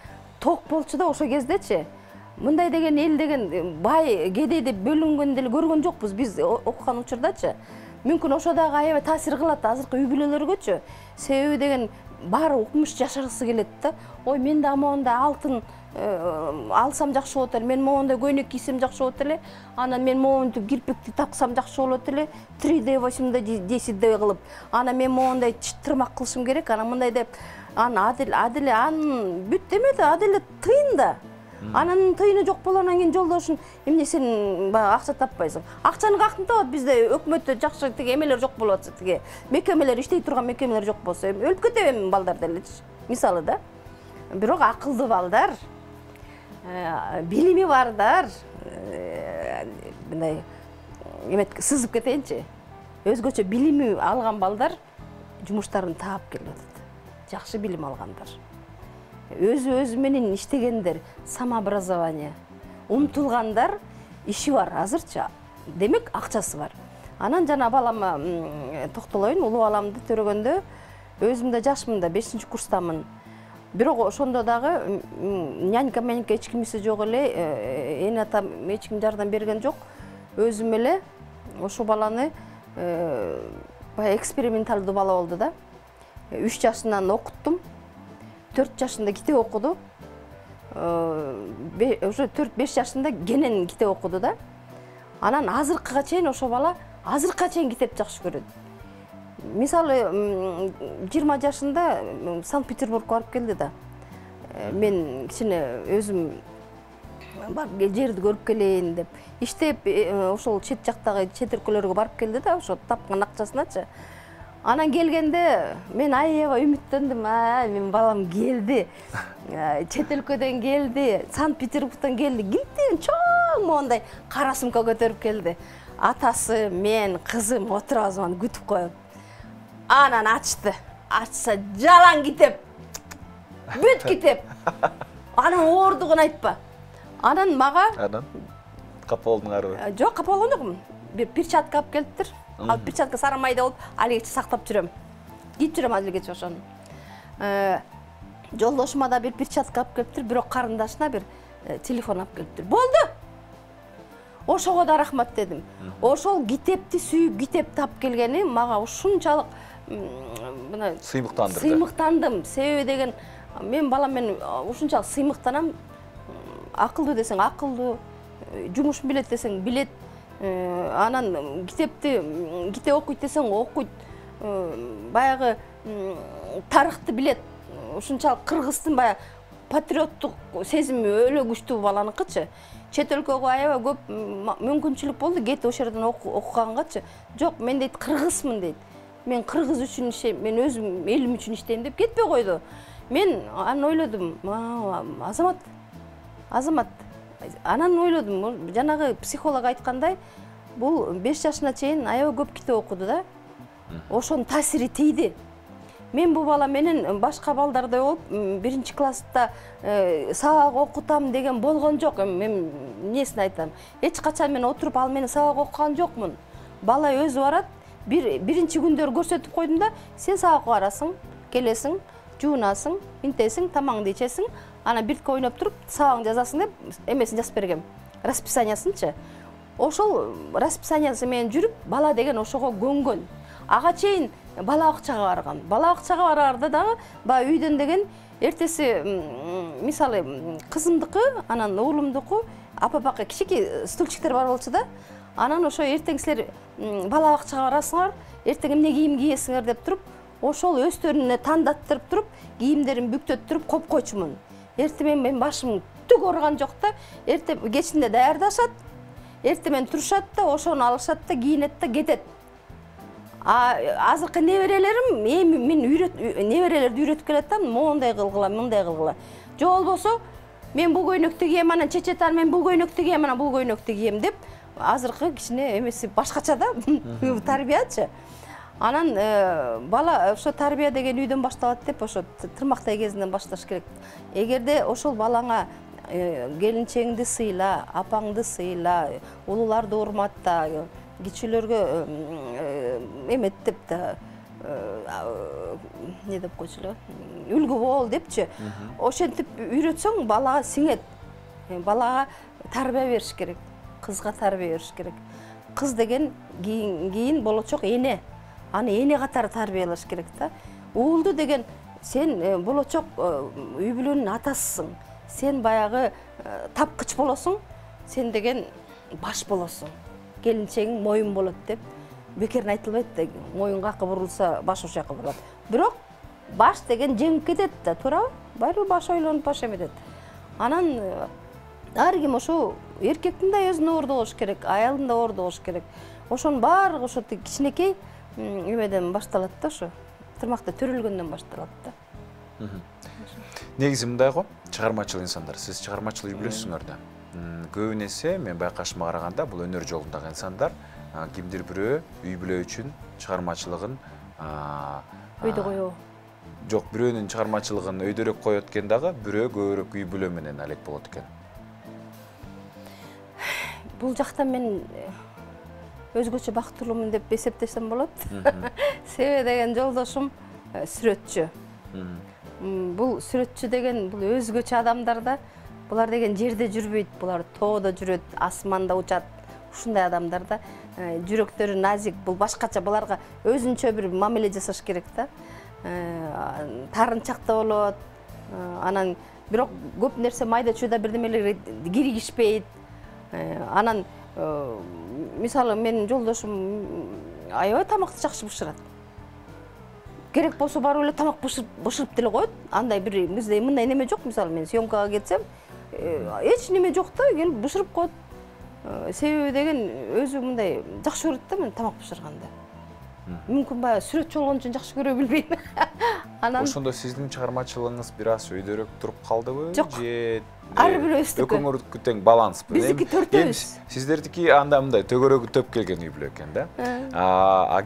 ток болчу да ошо кездечи. Мындай деген эл деген бай, кедей деп бөлүнгөн деле көргөн жокпуз биз окуган учурдачы. Мүмкүн ошо дагы аябай таасир кылат азыркы үй бүлөлөргөчү. Себеби деген баары укмуш жашагысы келет да. Ой, мен да моундай алтын алсам жакшы болот эле, мен моундай көйнөк кийсем жакшы болот эле, анан мен моундай кирпикти таксам жакшы болот эле, 3D 8D кылып, анан мен моундай тырмак кылышым керек, анан мындай деп, анан бүт эмеди, аделе тыйын да. Анан тыйыны жок болгондон кийин жолдошун, эмне сен баягы акча таппайсың? Акчаны кактын табат бизде өкмөттө жакшы тиги эмелер жок болуп атса, тиги мекемелер иштей турган мекемелер жок болсо, өлүп кетем балдар делечи. Мисалы да. Бирок акылдуу балдар, билими бардар, мындай эмет сызып кетейинчи. Өзгөчө билими алган балдар жумуштарын таап келип атат. Жакшы билим алгандар. Өзү менен иштегендер, самообразование, умтулгандар, иши бар азырчы. Демек, акчасы бар. Анан жана балама токтолоюн, улуу баламды төрөгөндө өзүм да жашмын да, 5-курстамын. Бирок ошондо дагы нянька мененке эч кимиси жок эле, эне атам эч ким жардам берген жок. Өзүм эле ошо баланы баягы эксперименталдуу бала болду да. 3 жашынан окуттум. 4 жашында китеп окуду. Уже 4-5 жашында кенен китеп окуду да. Анан азыркыга чейин ошо бала азыркыга чейин китеп жакшы көрөт. мисалы 20 жашында Санкт-Петербургка барып келди да. Мен кичине өзүм жерди көрүп келейин деп иштеп ошол чет жактагы чет өлкөлөргө барып келди да, ошо тапкан акчасыначы. Анан келгенде мен аябай үмүттөндүм. Мен балам келди. Чет өлкөдөн келди, Санкт-Петербургтан келди. Кимден чоң мондай кара сумка көтөрүп келди. Атасы, мен, кызым отурабыз аны күтүп коюп. Анан ачты. Ачса жалаң китеп. Бүт китеп. Анан оордугун айтпа. Анан мага капа болдуң арыбы? Жок, капа болгон жокмун. Бир перчатка алып келиптир. Ал перчатка сары майда болуп, алигече сактап жүрөм. Кийип жүрөм алигече ошону. Жолдошума да бир перчатка алып келиптир, бирок карындашына бир телефон алып келиптир. Болду. Ошого да рахмат дедим. Ошол китепти сүйүп, китепти алып келгени мага ушунчалык мына сыймыктандым. Себеби деген мен балам мен ушунчалык сыймыктанам. Акылдуу десең акылдуу, жумушун билет десең билет. Анан китеп окуйт десең окуйт. Баягы тарыхты билет. Ушунчалык кыргыздын баягы патриоттук сезими өлө күчтүү баланыкычы. Чет өлкөгө аябай көп мүмкүнчүлүк болду, кетип ошол жерден окугангачы. Жок, мен дейт кыргызмын дейт. Мен кыргыз үчүн иштейм, мен өзүм элим үчүн иштейм деп кетпей койду. Мен аны ойлодум, Азамат. Анан ойлодум, жанагы психолог айткандай, бул 5 жашына чейин аябай көп китеп окуду да. Ошонун таасири тийди. Мен бул бала менен башка балдардай болуп, 1-класста сабак окутам деген болгон жок. Мен эмнесин айтам? Эч качан мен отуруп ал менен сабак окуган жокмун. Бала өзү барат, биринчи күндөр көрсөтүп койдум да, сен сабак барасың, келесиң, жуунасың, интесиң, тамаңды ичесиң, ана биртке ойноп туруп, сабагыңды жазасың деп эмесин жазып бергем. Расписаниясынчы. Ошол расписаниясы менен жүрүп, бала деген ошого көнгөн. Ага чейин бала бакчага барган. Бала бакчага барарда дагы баягы үйдөн деген эртеси мисалы кызымдыкы, анан уулумдуку апа-апакка кичике стульчиктер бар болчу да. Анан ошо эртең силер бала бакчага барасыңар, эртең эмне кийим кийесиңер деп туруп, ошол өздөрүнө тандаттырып туруп, кийимдерин бүктөттүрүп коюп койчумун. Эрте мен башым түк ооруган жок да. Эрте кечинде даярдашат. Эрте мен турушат да, ошону алышат да, кийинет да, кетет. Азыркы неберелерим мен неберелерди үйрөтүп келатам, мондай кылгыла, мындай кылгыла. Же болбосо мен бул көйнөктү кийем, анан чечетан мен бул көйнөктү кийем, анан бул көйнөктү кийем деп азыркы кичине эмеси башкача да тарбиячы. Анан бала ошо тарбия деген үйдөн башталат деп ошо тырмактай кезинен башташ керек. Эгерде ошол балаңа келинчегиңди сыйла, апаңды сыйла, улууларды урматта, кичилерге эмет деп да не деп койчулар, үлгү бол депчи. Ошентип үйрөтсөң балага сиңет. Балага тарбия бериш керек, кызга тарбия бериш керек. Кыз деген кийин болочок эне. Аны эне катары тарбиялаш керек да. Уулду деген сен болочок үй бүлөнүн атасысың. Сен баягы тапкыч болосуң, сен деген баш болосуң. Келинчегиң моюн болот деп бекерин айтылбайт да. Моюн какы бурулса, баш ошол жака бурулат. Бирок баш деген жеңип кетет да, туурабы? Баары баш ойлонуп баш эметет. Анан ар ким ошо эркектин да өзүнө орду болуш керек, аялдын да орду болуш керек. Ошонун баардыгы ошо кичинекей эмеден башталат да, ошо тырмакта төрөлгөндөн башталат да. Негизи мындай го, чыгармачыл инсандар, сиз чыгармачыл үй бүлөсүңөр да. Көбүн эсе мен байкашыма караганда бул өнөр жолундагы инсандар кимдир бирөө үй бүлө үчүн чыгармачылыгын өйдө коёбу. Жок, бирөөнүн чыгармачылыгын өйдөрөөк коет экен дагы, бирөө көбүрөөк үй бүлө менен алек болот экен. Бул жакта мен өзгөчө бактылуумун деп эсептесем болот. Себеби деген жолдошум сүрөтчү. Бул сүрөтчү деген бул өзгөчө адамдар да. Булар деген жерде жүрбөйт, булар тоодо жүрөт, асманда учат. Ушундай адамдар да. Жүрөктөрү назик, бул башкача, буларга өзүнчө бир мамиле жасаш керек да. Тарынчак да болот. Анан бирок көп нерсе майда чүйда бирдемелерге киргишпейт. Анан мисалы менин жолдошум аябай тамакты жакшы бышырат. керек болсо барып эле тамак бышырып деле коет. Андай бир бизде мындай неме жок. Мисалы мен съемкага кетсем, эч неме жок да, келип бышырып коет. Себеби деген өзү мындай жакшы көрөт да мен тамак бышырганды. Мүмкүн баягы сүрөтчү болгон үчүн жакшы көрө билбейм. Анан ошондо сиздин чыгармачылыгыңыз бир аз өйдөрөөк туруп калдыбы? Жок. Же Ар бирөөбүздүкү. Экөөңөрдүкү тең баланспы? Биздики төртөөбүз. Сиздердики анда мындай төгөрөгү төп келген үй бүлө экен да.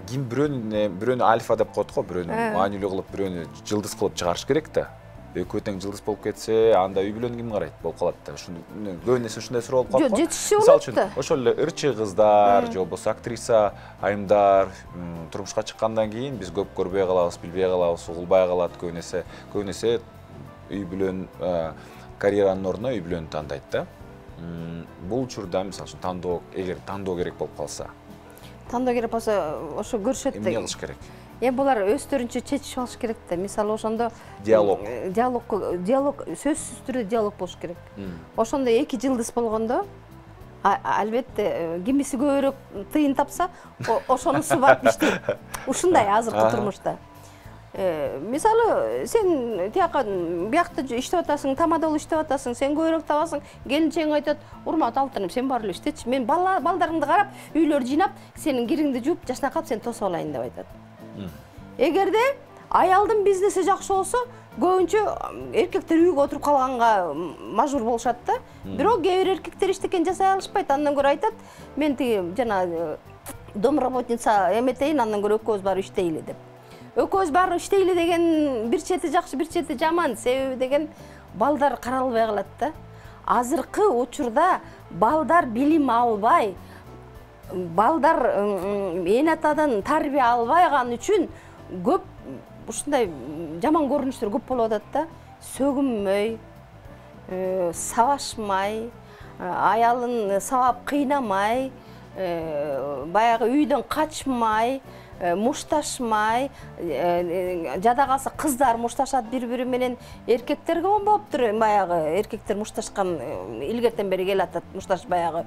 Ким бирөөнү альфа деп коет го, бирөөнү маанилүү кылып, бирөөнү жылдыз кылып чыгарыш керек да. Экөө тең жылдыз болуп кетсе, анда үй бүлөнү ким карайт болуп калат да. Ушуну көбүнесе ушундай суроо болуп калат го. Жок, жетишчи болот да. Ошол эле ырчы кыздар, же болбосо актриса айымдар турмушка чыккандан кийин биз көп көрбөй калабыз, билбей калабыз, угулбай калат көбүнесе үй бүлөнүн карьеранын ордуна үй бүлөнү тандайт да. Бул учурда мисалы үчүн тандоо, эгер тандоо керек болуп калса, Тандоо керек болсо ошо көрүшөт да. эмне кылыш керек? Булар өздөрүнчө чечишип алыш керек да. Мисалы ошондо Диалог сөзсүз түрдө диалог болуш керек. Ошондо эки жылдыз болгондо албетте кимиси көбүрөөк тыйын тапса, ошонусу барып иштейт. Ушундай азыркы турмушта. Мисалы, сен биякта иштеп атасың, тамада иштеп атасың, сен көбүрөөк табасың, келинчең айтат, урмат алтыным, сен бар эле иштечи. Мен балдарыңды карап, үйлөр жыйнап, сенин кириңди жууп, жашнакап, сен тосуп алайын деп айтат. Эгерде аялдын бизнеси жакшы болсо, көбүнчө эркектер үйгө отуруп калганга мажбур болушат да. Бирок кээ бир эркектер эчтекен жасай алышпайт. Андан көрө айтат, мен тиги жана домработница эметейин, андан көрө экөөбүз барып иштейли деп. Экөөбүз барып иштейли деген бир чети жакшы, бир чети жаман. Себеби деген балдар каралбай калат да. Азыркы учурда балдар билим албай, балдар эн атадан тарбия албайган үчүн көп ушундай жаман көрүнүштөр көп болуп атат да. Сөгүнмөй, сабашмай, аялын сабап кыйнамай, баягы үйдөн качмай, мушташмай, жада калса кыздар мушташат бири-бири менен, эркектерге болуптур, баягы эркектер мушташкан илгертен бери келатат, мушташ баягы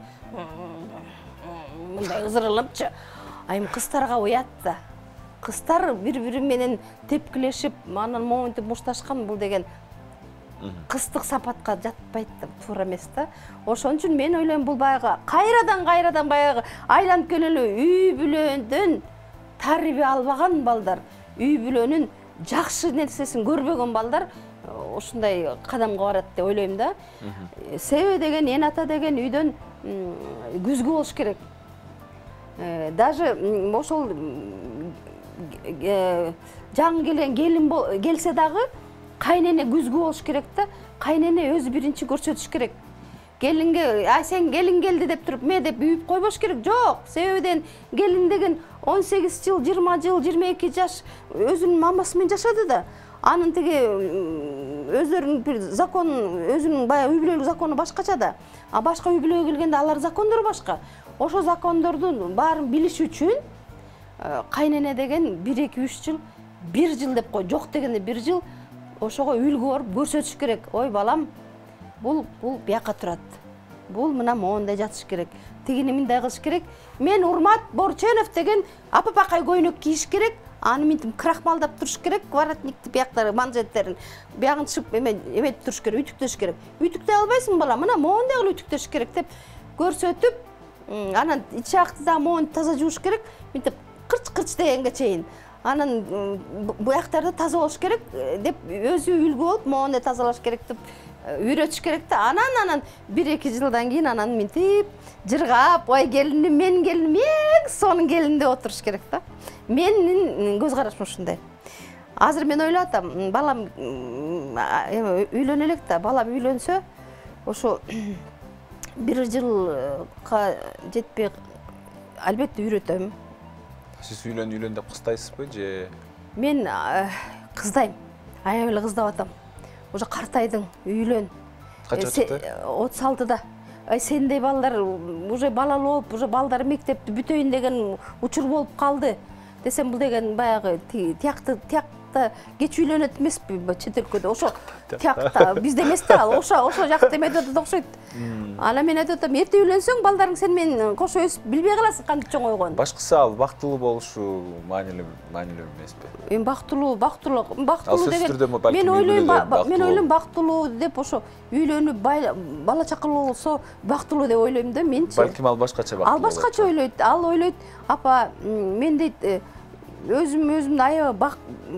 мындай ызырылыпчы. Айым кыздарга уят да. Кыздар бири-бири менен тепкилешип, анан моментип мушташкан, бул деген кыздык сапатка жатпайт да, туура эмес да. Ошон үчүн мен ойлойм, бул баягы кайрадан баягы айланып келелүү үй бүлөдөн тарбия албаган балдар, үй бүлөнүн жакшы нерсесин көрбөгөн балдар ушундай кадамга барат деп ойлойм да. Себеби деген эн ата деген үйдөн күзгү болуш керек. Даже ошол жаңы келген келин келсе дагы кайнене күзгү болуш керек да. Кайнене өзү биринчи көрсөтүш керек. Келинге, сен келин келди деп туруп, ме деп үйүп койбош керек. Жок, себебиден келин деген 18 жыл, 20 жыл, 22 жаш өзүнүн мамасы менен жашады да. Анын тиги өздөрүнүн бир закон, өзүнүн баягы үй бүлөлүк закону башкача да. А башка үй бүлөгө келгенде алар закондору башка. Ошо закондордун баарын билиш үчүн кайнене деген 1-2-3 жыл, 1 жыл деп кой, жок дегенде 1 жыл ошого үлгү барып көрсөтүш керек. Ой балам, бул бияка турат. Бул мына моундай жатыш керек. Тигини мындай кылыш керек. Мен Урмат Борченов деген апапакай көйнөк кийиш керек. Аны минтип крахмалдап туруш керек, воротникти бияктары, манжеттерин биягын чып эметип туруш керек, үтүктөш керек. Үтүктөй албайсың бала, мына моундай кылып үтүктөш керек деп көрсөтүп, анан ич жакты да моун таза жууш керек. Минтип кырч дегенге чейин. Анан буяктарды таза болуш керек деп өзү үлгү болуп, моундай тазалаш керек деп үйрөтүш керек да. Анан 1-2 жылдан кийин анан минтип жыргап, ой келиним, менин келиним эң сонун келин деп отуруш керек да. Менин көз карашым ушундай. Азыр мен ойлоп атам, балам үйлөнө элек да, балам үйлөнсө, ошо 1 жылга жетпей албетте үйрөтөм. Сиз үйлөн деп кыстайсызбы же? Мен кыздайм. Аябай эле кыздап атам. Уже картайдың, үйлөн. Кача чыкты? 36-да. Сендей балдар уже балалуу болуп, уже балдар мектепти бүтөйүн деген учур болуп калды. Десем, бул деген баягы тияк жакта кеч үйлөнөт эмеспи чет өлкөдө ошо тиякта бизде эмес да ал ошо жакта эметип атат окшойт. Анан мен айтып атам, эрте үйлөнсөң балдарың сен менен кошо өсүп билбей каласың кантип чоңойгонун. Башкысы ал бактылуу болушу маанилүү эмеспи? Эми бактылуу сөзсүздүрдө деген мен ойлойм бактылуу деп ошо үйлөнүп бала чакалуу болсо бактылуу деп ойлойм да менчи. Балким ал башкача бактылуу. Ал башкача ойлойт. Ал ойлойт, апа мен дейт өзүмдү аябай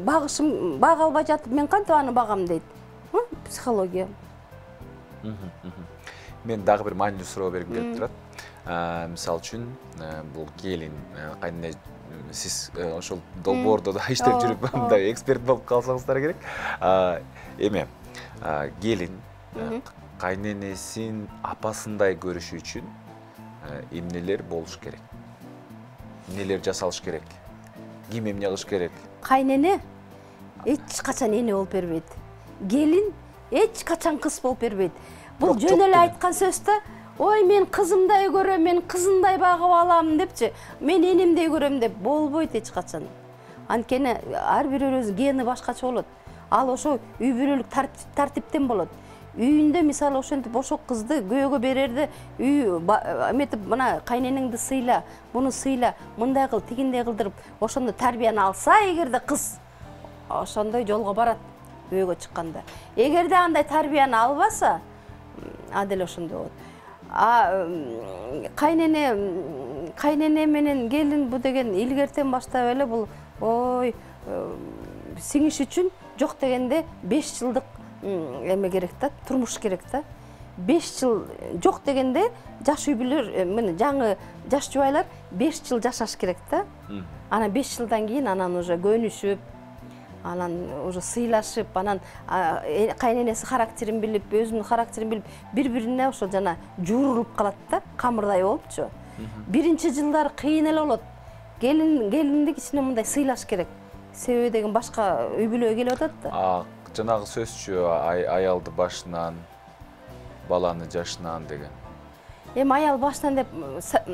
багышым бага албай жатып мен кантип аны багам дейт. Психология. Мен дагы бир маанилүү суроо бергим келип турат. Мисалы үчүн бул келин, кайнене сиз ошол долбоордо да иштеп жүрүп мындай эксперт болуп калсаңыздар керек. Эме келин кайненесин апасындай көрүшү үчүн эмнелер болуш керек? Эмнелер жасалыш керек? Ким эмне кылыш керек? Кайнене эч качан эне болуп бербейт. Келин эч качан кыз болуп бербейт. Бул жөн эле айткан сөз да. Ой, мен кызымдай көрөм, мен кызымдай багып алам депчи. Мен энемдей көрөм деп болбойт эч качан. Анткени ар бирөөнүн гени башкача болот. Ал ошо үй бүлөлүк тартиптен болот. Үйүндө мисалы ошентип ошо кызды күйөөгө берерде үй эметип мына кайненеңди сыйла, муну сыйла, мындай кыл, тигиндей кылдырып, ошондо тарбияны алса, эгерде кыз ошондой жолго барат күйөөгө чыкканда. Эгерде андай тарбияны албаса, адил ошондой болот. Кайнене менен келин бу деген илгертен баштап эле бул ой сиңиш үчүн жок дегенде 5 жылдык эме керек да, турмуш керек да. 5 жыл жок дегенде жаш үй бүлөлөр, мына жаңы жаш жубайлар 5 жыл жашаш керек да. Анан 5 жылдан кийин анан уже көнүшүп, анан уже сыйлашып, анан кайненеси характерин билип, өзүнүн характерин билип, бири-бирине ошо жана жуурулуп калат да, камырдай болупчу. Биринчи жылдары кыйын эле болот. Келинди кичине мындай сыйлаш керек. Себеби деген башка үй бүлөгө келип атат да. Жанагы сөзчү аялды башынан, баланы жашынан деген. Эми аял башынан деп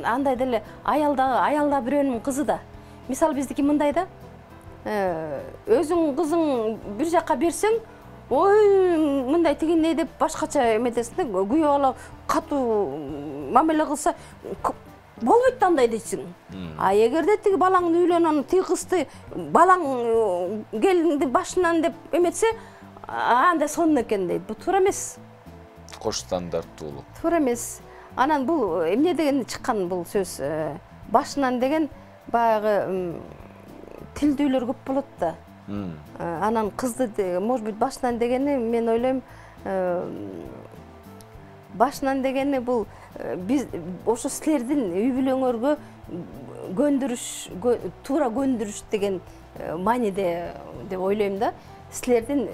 андай деле аялда бирөөнүн кызы да. Мисалы биздики мындай да. Өзүң кызың бир жакка берсең, ой, мындай тигиндей деп башкача эметесиң да, күйөө бала катуу мамиле кылса, болбойт да андай дейсиң. Эгерде тиги балаңды үйлөнүп, тиги кызды балаң келинди башынан деп эметсе, анда сонун экен дейт. Бу туура эмес. Кош стандарттуулук. Туура эмес. Анан бул эмне деген чыккан бул сөз? Башынан деген баягы тилдүүлөр көп болот да. Анан кызды, может быть, башынан дегени, мен ойлойм, башынан дегени бул биз ошо силердин үй бүлөңөргө туура көндүрүш деген мааниде деп ойлойм да. Силердин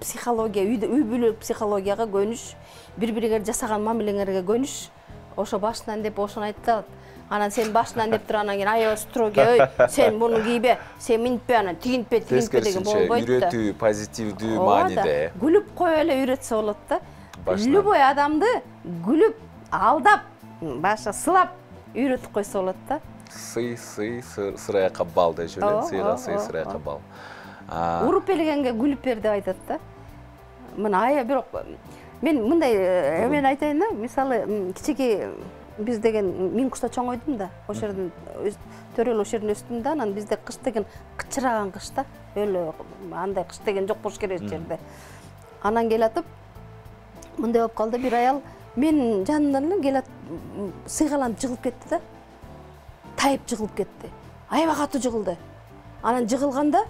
психология, үй бүлөлүк психологияга көнүш, бири-бириңер жасаган мамилеңерге көнүш, ошо башынан деп ошону айтат. Анан сен башынан деп тур, анан кийин аябай строгий, ой, сен муну кийбе, сен минтпе, анан тигинтпе деген болбойт да. Үйрөтүү, позитивдүү мааниде. Күлүп кое эле үйрөтсө болот да. Любой адамды күлүп, алдап, баша сылап үйрөтүп койсо болот да. Сый, сыраяка бал деши эле, сыйга сый, сыраяка бал. Уруп элегенге күлүп бер деп айтат да. Мына бирок мен мындай эмен айтайын да, мисалы кичике биз деген мен кышта чоңойдум да, ошол жерден төрөл ошол жерден өстүм да, анан бизде кыш деген кычыраган кыш да, өлө андай кыш деген жок болуш керек жерде. Анан келатып мындай болуп калды, бир аял мен жанымдан эле келат, сыйгаланып жыгылып кетти да. Тайып жыгылып кетти. Аябай катуу жыгылды. Анан жыгылганда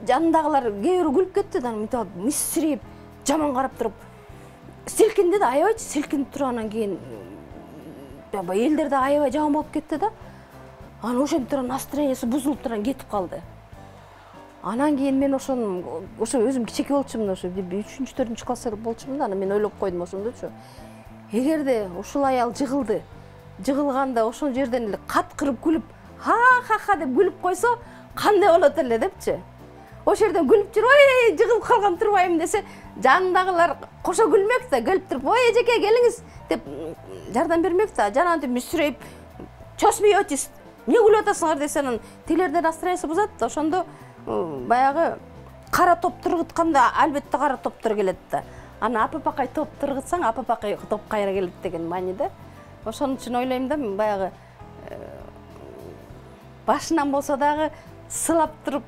жанындагылар кээ бирөө күлүп кетти да, мынтип мисирип, жаман карап туруп силкинди да, аябай силкинип тургандан кийин элдер да аябай жаман болуп кетти да. Анан ошентип турган настроениясы бузулуп турган кетип калды. Анан кийин мен ошо өзүм кичеке болчумун, ошо 3-4 класста болчумун да, анан мен ойлоп койдум ошондочу. Эгерде ушул аял жыгылды, жыгылганда ошол жерден эле каткырып күлүп, ха-ха-ха деп күлүп койсо, кандай болот эле депчи. Ошол жерден күлүп жүрүп, ой, жыгылып калган турбайм десе, жанындагылар кошо күлмөк да, келип туруп, ой, эжеке келиңиз деп жардам бермек да. Жанагынтип мүсүрөйүп, чосмеетесь, эмне күлүп атасыңар десе анан тилерден настроениясы бузат. Ошондо баягы кара топ тургутканда албетте кара топтор келет да. Аны апапакай топ тургутсаң, апапакай топ кайра келет деген мааниде. Ошон үчүн ойлойм да, баягы башынан болсо дагы сылап туруп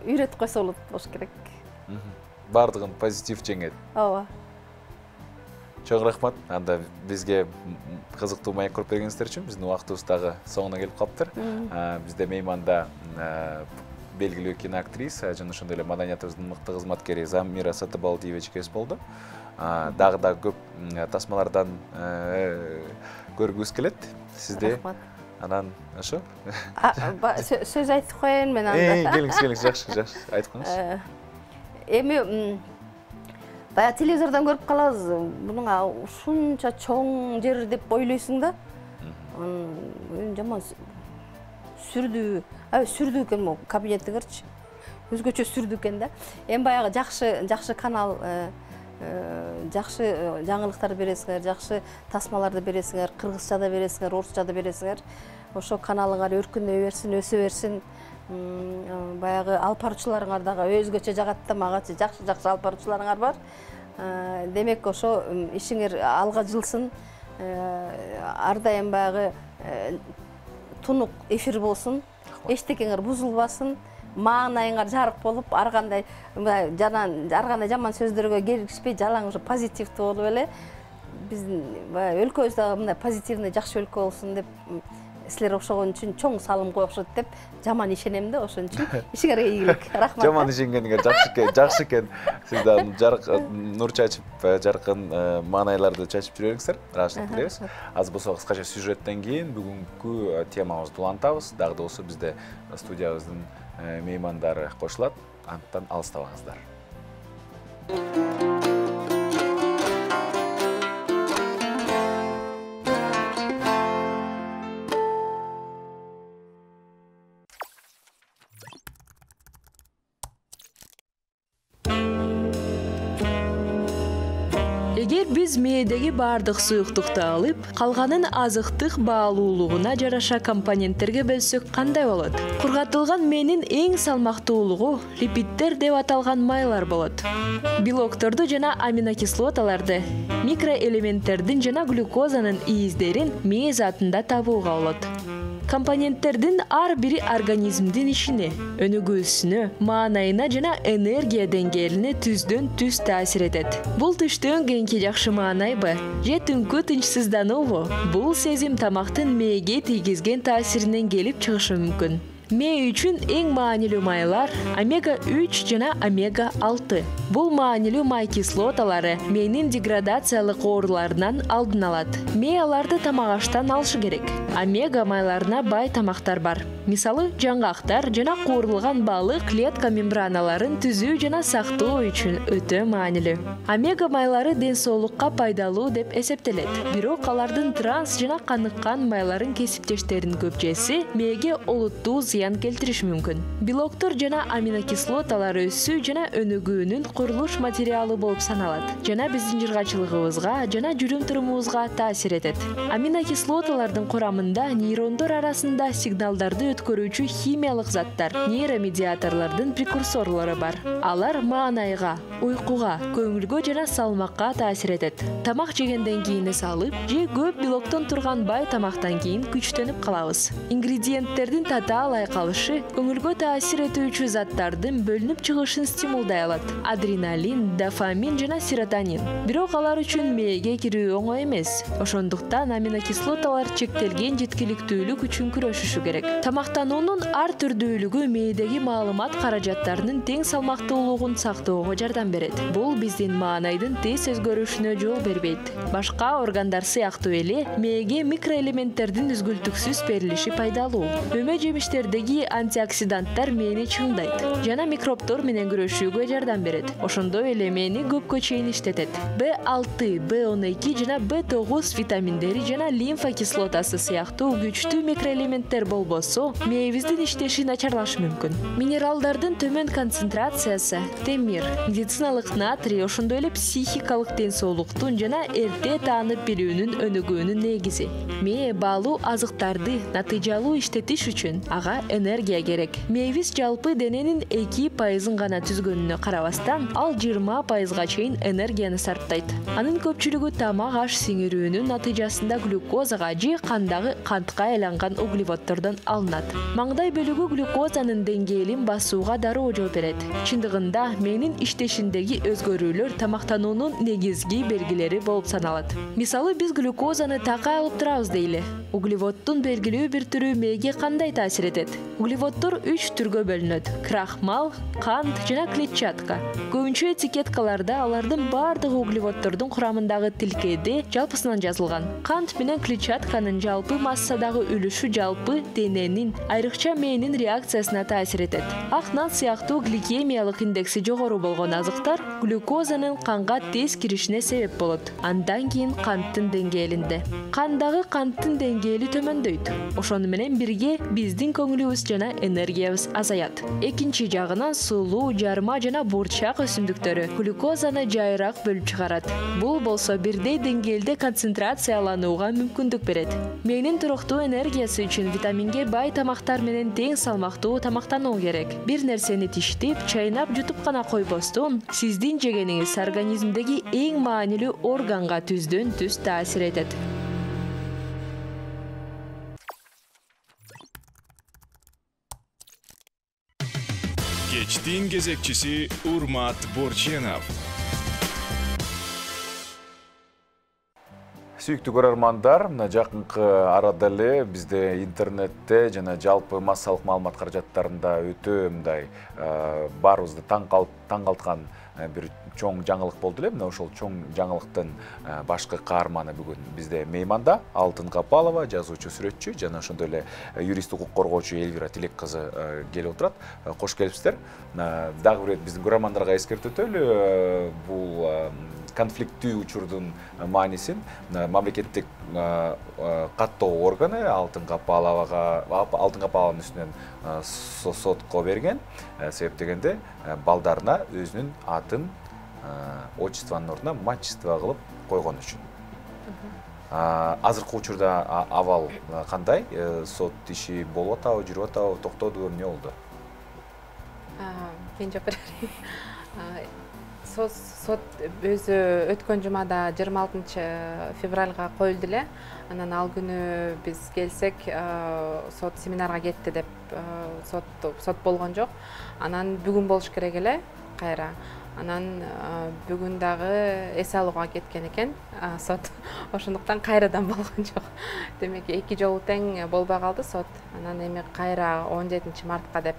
үйрөтүп койсо болуш керек. Бардыгын позитив жеңет. Ооба. Чоң рахмат. Анда бизге кызыктуу маек коруп бергениңиздер үчүн биздин убактыбыз дагы соңуна келип калыптыр. Бизде мейманда белгилүү киноактриса жана ошондой эле маданиятыбыздын мыкты кызматкери Замира Сатыбалдиевич кез болду. Дагы да көп тасмалардан көргүбүз келет сизди. Рахмат. Анан ошо. Сөз айтып коеюн мен анда. Келиңиз, жакшы, айтып коюңуз. Эми баягы телевизордон көрүп калабыз, мунун ушунча чоң жер деп ойлойсуң да. Жаман сүрдүү экен могу кабинетиңерчи. Өзгөчө сүрдүү экен да. Эми баягы жакшы канал, жакшы жаңылыктарды бересиңер, жакшы тасмаларды бересиңер, кыргызчада бересиңер, орусчада бересиңер. Ошо каналыңар өркүнөй берсин, өсө берсин. Баягы алып баруучуларыңар дагы өзгөчө жагат да, магачы жакшы алып баруучуларыңар бар. Демек ошо ишиңер алга жылсын. Ар дайым баягы тунук эфир болсун. Эчтекеңер бузулбасын. Маанайыңар жарык болуп, ар кандай жаман сөздөргө келишпей, жалаң ушу позитивдүү болуп эле биздин өлкөбүз мындай позитивный жакшы өлкө болсун деп силер окшогон үчүн чоң салым коюшат деп жаман ишенем да, ошон үчүн ишиңерге ийгилик. Рахмат. Жаман ишенгениңер жакшы экен. Сиздер жарык нур чачып, жаркын маанайларды чачып жүрөңүздөр. Ыраазычылык билебиз. Аз болсо кыскача сюжеттен кийин бүгүнкү темабызды улантабыз. Дагы да болсо бизде студиябыздын меймандары кошулат. Анттан алыстабаңыздар. Эгер биз мээдеги бардык суюктукту алып, калганын азыктык баалуулугуна жараша компоненттерге бөлсөк кандай болот? Кургатылган мээнин эң салмактуулугу липиддер деп аталган майлар болот. Белокторду жана аминокислоталарды, микроэлементтердин жана глюкозанын ийиздерин мээ затында табууга болот. Компоненттердин ар бири организмдин ишине, өнүгүүсүнө, маанайына жана энергия деңгээлине түздөн түз таасир этет. Бул түштөн кийинки жакшы маанайбы же түнкү тынчсыздануубу? Бул сезим тамактын мээге тийгизген таасиринен келип чыгышы мүмкүн. Мээ үчүн эң маанилүү майлар омега-3 жана омега-6. Бул маанилүү май кислоталары мээнин деградациялык ооруларынан алдын алат. Мээ аларды тамак аштан алышы керек. Омега майларына бай тамактар бар. Мисалы, жаңгактар жана куурулган балык клетка мембраналарын түзүү жана сактоо үчүн өтө маанилүү. Омега майлары ден соолукка пайдалуу деп эсептелет. Бирок алардын транс жана каныккан майларын кесиптештеринин көпчөсү мээге олуттуу зыян келтириши мүмкүн. Белоктор жана аминокислоталар өсүү жана өнүгүүнүн курулуш материалы болуп саналат жана биздин жыргачылыгыбызга жана жүрүм-турумубузга таасир этет. Аминокислоталардын курамында нейрондор арасында сигналдарды өткөрүүчү химиялык заттар, нейромедиаторлордун прекурсорлору бар. Алар маанайга, уйкуга, көңүлгө жана салмакка таасир этет. Тамак жегенден кийин эс алып, же көп белоктон турган бай тамактан кийин күчтөнүп калабыз. Ингредиенттердин татаалай калышы көңүлгө таасир этүүчү заттардын бөлүнүп чыгышын стимулдай алат. Адреналин, дофамин жана серотонин. Бирок алар үчүн мээге кирүү оңой эмес. Ошондуктан аминокислоталар чектелген жеткиликтүүлүк үчүн күрөшүшү керек. Тамактануунун ар түрдүүлүгү мээдеги маалымат каражаттарынын тең салмактуулугун сактоого жардам берет. Бул биздин маанайдын тез өзгөрүшүнө жол бербейт. Башка органдар сыяктуу эле мээге микроэлементтердин үзгүлтүксүз берилиши пайдалуу. Өмө жемиштердеги антиоксиданттар мээни чыңдайт жана микробтор менен күрөшүүгө жардам берет. Ошондой эле мээни көпкө чейин иштетет. B6, B12 жана B9 витаминдери жана лимфа кислотасы сыяктуу күчтүү микроэлементтер болбосо, мээбиздин иштеши начарлашы мүмкүн. Минералдардын төмөн концентрациясы, темир, медициналык натрий, ошондой эле психикалык ден соолуктун жана эрте таанып билүүнүн өнүгүүнүн негизи. Мээ баалуу азыктарды натыйжалуу иштетиш үчүн ага энергия керек. Мээбиз жалпы дененин 2% гана түзгөнүнө карабастан, ал 20%га чейин энергияны сарптайт. Анын көпчүлүгү тамак аш сиңирүүнүн натыйжасында глюкозага же кандагы кантка айланган углеводдордон алынат. Маңдай бөлүгү глюкозанын деңгээлин басууга дароо жооп берет. Чындыгында мээнин иштешиндеги өзгөрүүлөр тамактануунун негизги белгилери болуп саналат. Мисалы, биз глюкозаны такай алып турабыз дейли. Углеводдун белгилүү бир түрү мээге кандай таасир этет? Углеводдор 3 түргө бөлүнөт: крахмал, кант жана клетчатка. Көбүнчө этикеткаларда алардын бардыгы углеводдордун курамындагы тилкеде жалпысынан жазылган. Кант менен клетчатканын жалпы массадагы үлүшү жалпы дененин, айрыкча мээнин реакциясына таасир этет. Ак нан сыяктуу гликемиялык индекси жогору болгон азыктар глюкозанын канга тез киришине себеп болот. Андан кийин канттын деңгээлинде. Кандагы канттын деңгээли төмөндөйт. Ошону менен бирге биздин көңүлүбүз жана энергиябыз азаят. Экинчи жагынан сулуу, жарма жана бурчак өсүмдүктөрү глюкозаны жайыраак бөлүп чыгарат. Бул болсо бирдей деңгээлде концентрацияланууга мүмкүндүк берет. Мээнин туруктуу энергиясы үчүн витаминге бай тамактар менен тең салмактуу тамактануу керек. Бир нерсени тиштеп, чайнап, жутуп гана койбостон, сиздин жегениңиз организмдеги эң маанилүү органга түздөн түз таасир этет. Кечтин кезекчиси Урмат Борченов. Сүйүктүү көрөрмандар, мына жакынкы арада эле бизде интернетте жана жалпы массалык маалымат каражаттарында өтө мындай баарыбызды таң калткан бир чоң жаңылык болду эле. Мына ошол чоң жаңылыктын башкы каарманы бүгүн бизде мейманда. Алтын Капалова, жазуучу, сүрөтчү жана ошондой эле юрист, укук коргоочу Элвира Тилек кызы келип отурат. Кош келипсиздер. Дагы бир биздің көрөрмандарга эскертип өтөлү, бул конфликттүү учурдун маанисин мамлекеттик каттоо органы Алтын Капалованын үстүнөн сотко берген. Себеп дегенде балдарына өзүнүн атын отчествонун ордуна мачество кылып койгон үчүн. Азыркы учурда абал кандай? Сот иши болуп атабы, жүрүп атабы, токтодубу, эмне болду? Мен жооп берейин. Сот өзү өткөн жумада 26 февралга коюлду эле. Анан ал күнү биз келсек, сот семинарга кетти деп сот болгон жок. Анан бүгүн болуш керек эле кайра. Анан бүгүн дагы эс алууга кеткен экен сот. Ошондуктан кайрадан болгон жок. Демек 2 жолу тең болбой калды сот. Анан эми кайра 17 мартка деп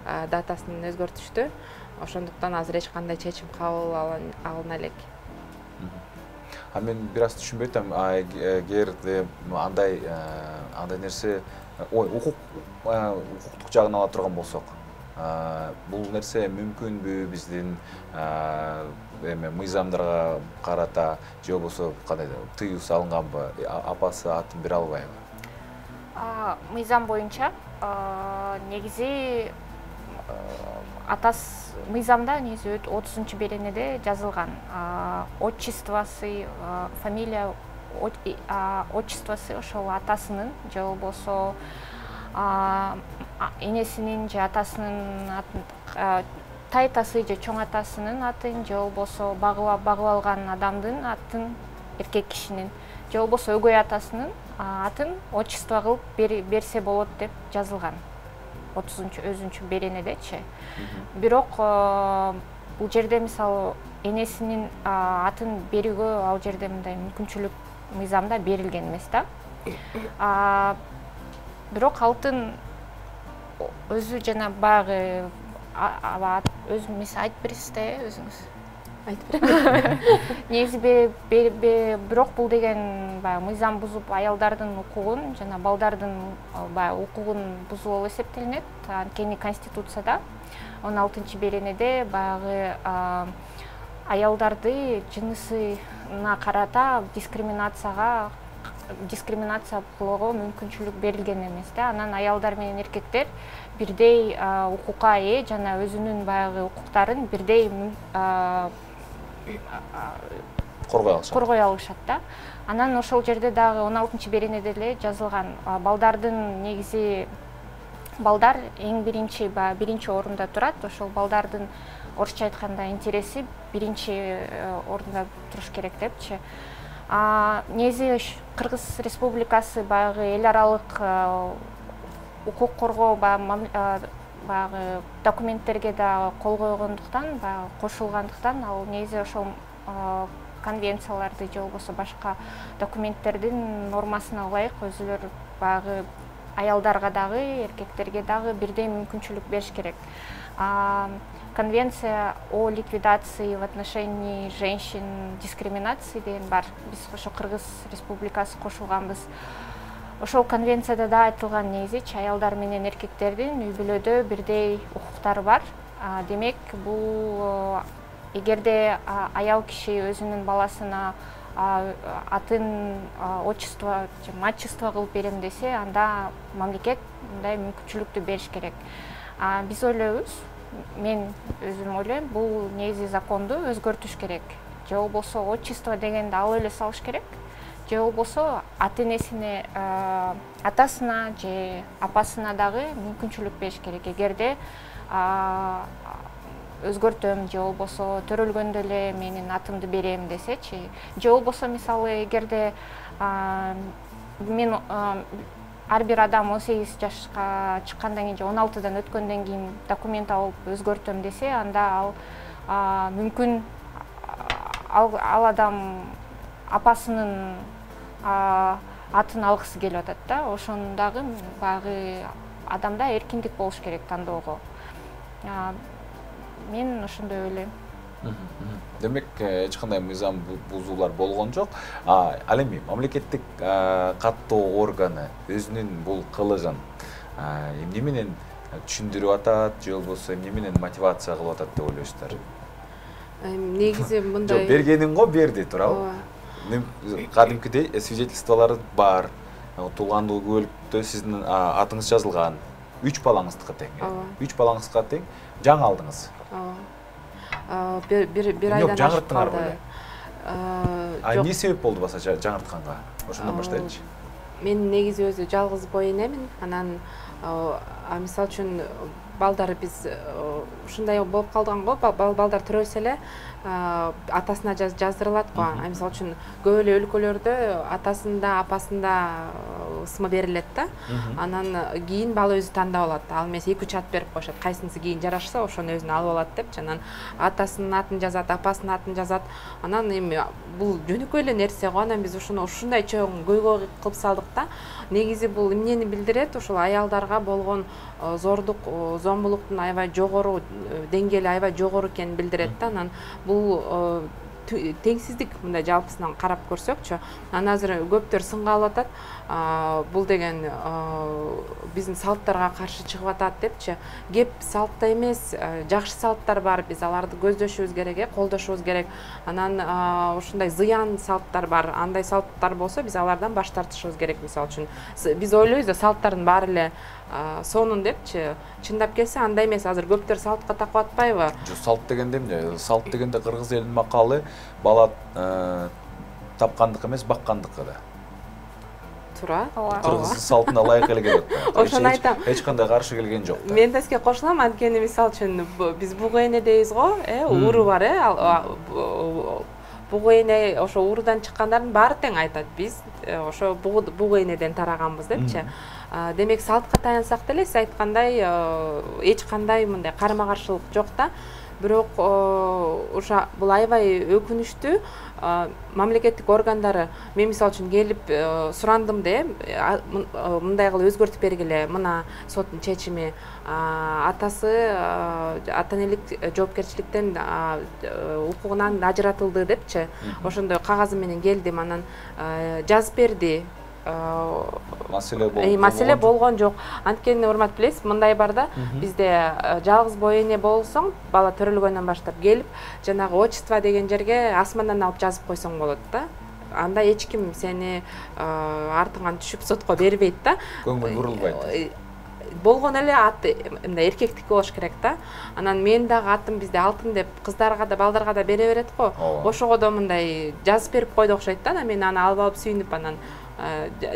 датасын өзгөртүштү. Ошондуктан азыр эч кандай чечим кабыл алына элек. Мен бир аз түшүнбөй атам. Эгерде андай нерсе, укуктук жагын ала турган болсок, бул нерсе мүмкүнбү биздин мыйзамдарга карата, же болбосо кандай тыюу салынганбы? Апасы атын бере албайбы? Мыйзам боюнча негизи мыйзамда негизи 30-беренеде жазылган. Отчествосы, фамилия отчествосы ошол атасынын же болбосо энесинин же атасынын атын, тайтасы же чоң атасынын атын, же болбосо багып алган адамдын атын, эркек кишинин, же болбосо өгөй атасынын атын отчество кылып берсе болот деп жазылган. 30-беренедечи. Бирок бул жерде мисалы энесинин атын берүүгө ал жерде мындай мүмкүнчүлүк мыйзамда берилген эмес да. Бирок Алтын өзү жана баягы өзү айтып бересиз да, өзүңүз. айтып берем. негизи бирок бул деген баягы мыйзам бузуп аялдардын укугун жана балдардын баягы укугун бузуу болуп эсептелинет. Анткени Конституцияда 16-беренеде баягы аялдарды жынысына карата дискриминация кылууга мүмкүнчүлүк берилген эмес да. Анан аялдар менен эркектер бирдей укукка ээ жана өзүнүн баягы укуктарын бирдей коргой алышат да. Анан ошол жерде дагы 16-беренеде эле жазылган балдардын негизи балдар эң биринчи орунда турат. Ошол балдардын орусча айтканда интереси биринчи орунда туруш керек депчи. Негизи Кыргыз Республикасы баягы эл аралык укук коргоо баягы документтерге да кол койгондуктан, баягы кошулгандыктан ал негизи ошол конвенцияларды же болбосо башка документтердин нормасына ылайык өзүлөр баягы аялдарга дагы, эркектерге дагы бирдей мүмкүнчүлүк бериш керек. Конвенция о ликвидации в отношении женщин дискриминации деген бар. Биз ошо Кыргыз Республикасы кошулганбыз. Ошол конвенцияда да айтылган негизи аялдар менен эркектердин үй бүлөдө бирдей укуктары бар. Демек, бул эгерде аял киши өзүнүн баласына атын отчество же мачество кылып берем десе, анда мамлекет мындай мүмкүнчүлүктү бериш керек. Биз ойлойбуз, мен өзүм ойлойм, бул негизи законду өзгөртүш керек. Же болбосо отчество дегенди ал эле салыш керек. Же болбосо ата-энесине, атасына же апасына дагы мүмкүнчүлүк бериш керек. Эгерде өзгөртөм же болбосо төрөлгөндө эле менин атымды берем десечи, же болбосо мисалы эгерде мен ар бир адам 18 жашка чыккандан кийин же 16дан өткөндөн кийин документ алып өзгөртөм десе, анда ал мүмкүн ал адам апасынын атын алгысы келип атат да. Ошондагы баягы адамда эркиндик болуш керек тандоого. Мен ошондой ойлойм. Демек, эч кандай мыйзам бузуулар болгон жок. Ал эми мамлекеттик каттоо органы өзүнүн бул кылыгын эмне менен түшүндүрүп атат, же болбосо эмне менен мотивация кылып атат деп ойлойсуздар? Негизи мындай. Жок, бергенин го берди, туурабы? Кадимкидей свидетельстволор бар. Туулгандуу күбөлүктө сиздин атыңыз жазылган. 3 балаңыздыкы тең. 3 балаңызга тең жаңы алдыңыз. Bir aydan aşıp kaldı. Ne sebep oldu basa жаңыртканга? Ошондон баштайлычы. Мен негизи өзү жалгыз бой энемин. Анан мисалы үчүн балдары биз ушундай болуп калган го, балдар төрөлсө эле атасына жаздырылат го. Мисалы үчүн көп эле өлкөлөрдө атасында, апасында ысмы берилет да. Анан кийин бала өзү тандап алат. Ал эмес 2-3 ат берип коюшат. Кайсынысы кийин жарашса, ошону өзүнө алып алат депчи. Анан атасынын атын жазат, апасынын атын жазат. Анан эми бул жөнөкөй эле нерсе го. Анан биз ушундай чоң көйгөй кылып салдык да. Негизи бул эмнени билдирет? Ошол аялдарга болгон зордук, зомбулуктун аябай жогору деңгээли аябай жогору экенин билдирет да. Анан бул теңсиздик мындай жалпысынан карап көрсөкчү. Анан азыр көптөр сынга алып атат. Бул деген биздин салттарга каршы чыгып атат депчи. Кеп салтта эмес, жакшы салттар бар. Биз аларды көздөшүбүз керек, колдошубуз керек. Анан ушундай зыян салттар бар. Андай салттар болсо биз алардан баш тартышыбыз керек. Мисалы үчүн биз ойлойбуз да салттардын баары эле сонун депчи. Чындап келсе андай эмес. Азыр көптөр салтка такып атпайбы? Салт дегенде эмне? Салт дегенде кыргыз элинин макалы бала тапкандык эмес, баккандыкы да. Туура. Кыргыз салтына ылайык эле келет. Ошону айтам. Эч кандай каршы келген жок. Мен да сизге кошулам, анткени мисалы үчүн биз бугу эне дейбиз го, уру бар, бугу эне ошо урудан чыккандардын баары тең айтат. Биз ошо бугу энеден тараганбыз депчи. Демек салтка таянсак деле сиз айткандай эч кандай мындай карама каршылык жок да. Бирок ошо бул аябай өкүнүчтүү. Мамлекеттик органдары мен мисалы үчүн келип сурандым да, мындай кылып өзгөртүп бергиле, мына соттун чечими, атасы ата энелик жоопкерчиликтен укугунан ажыратылды депчи. Ошондой кагазы менен келдим, анан жазып берди. Маселе болгон жок. Анткени урмат билесиз, мындай бар да, бизде жалгыз бой эне болсоң, бала төрөлгөндөн баштап келип, жанагы отчество деген жерге асмандан алып жазып койсоң болот да. Анда эч ким сени артыңан түшүп сотко бербейт да. Көңүл бурулбайт. Болгон эле аты мындай эркектики болуш керек да. Анан мен дагы атым бизде алтын деп кыздарга да балдарга да бере берет го. Ошого да мындай жазып берип койду окшойт да. Мен аны алып алып сүйүнүп анан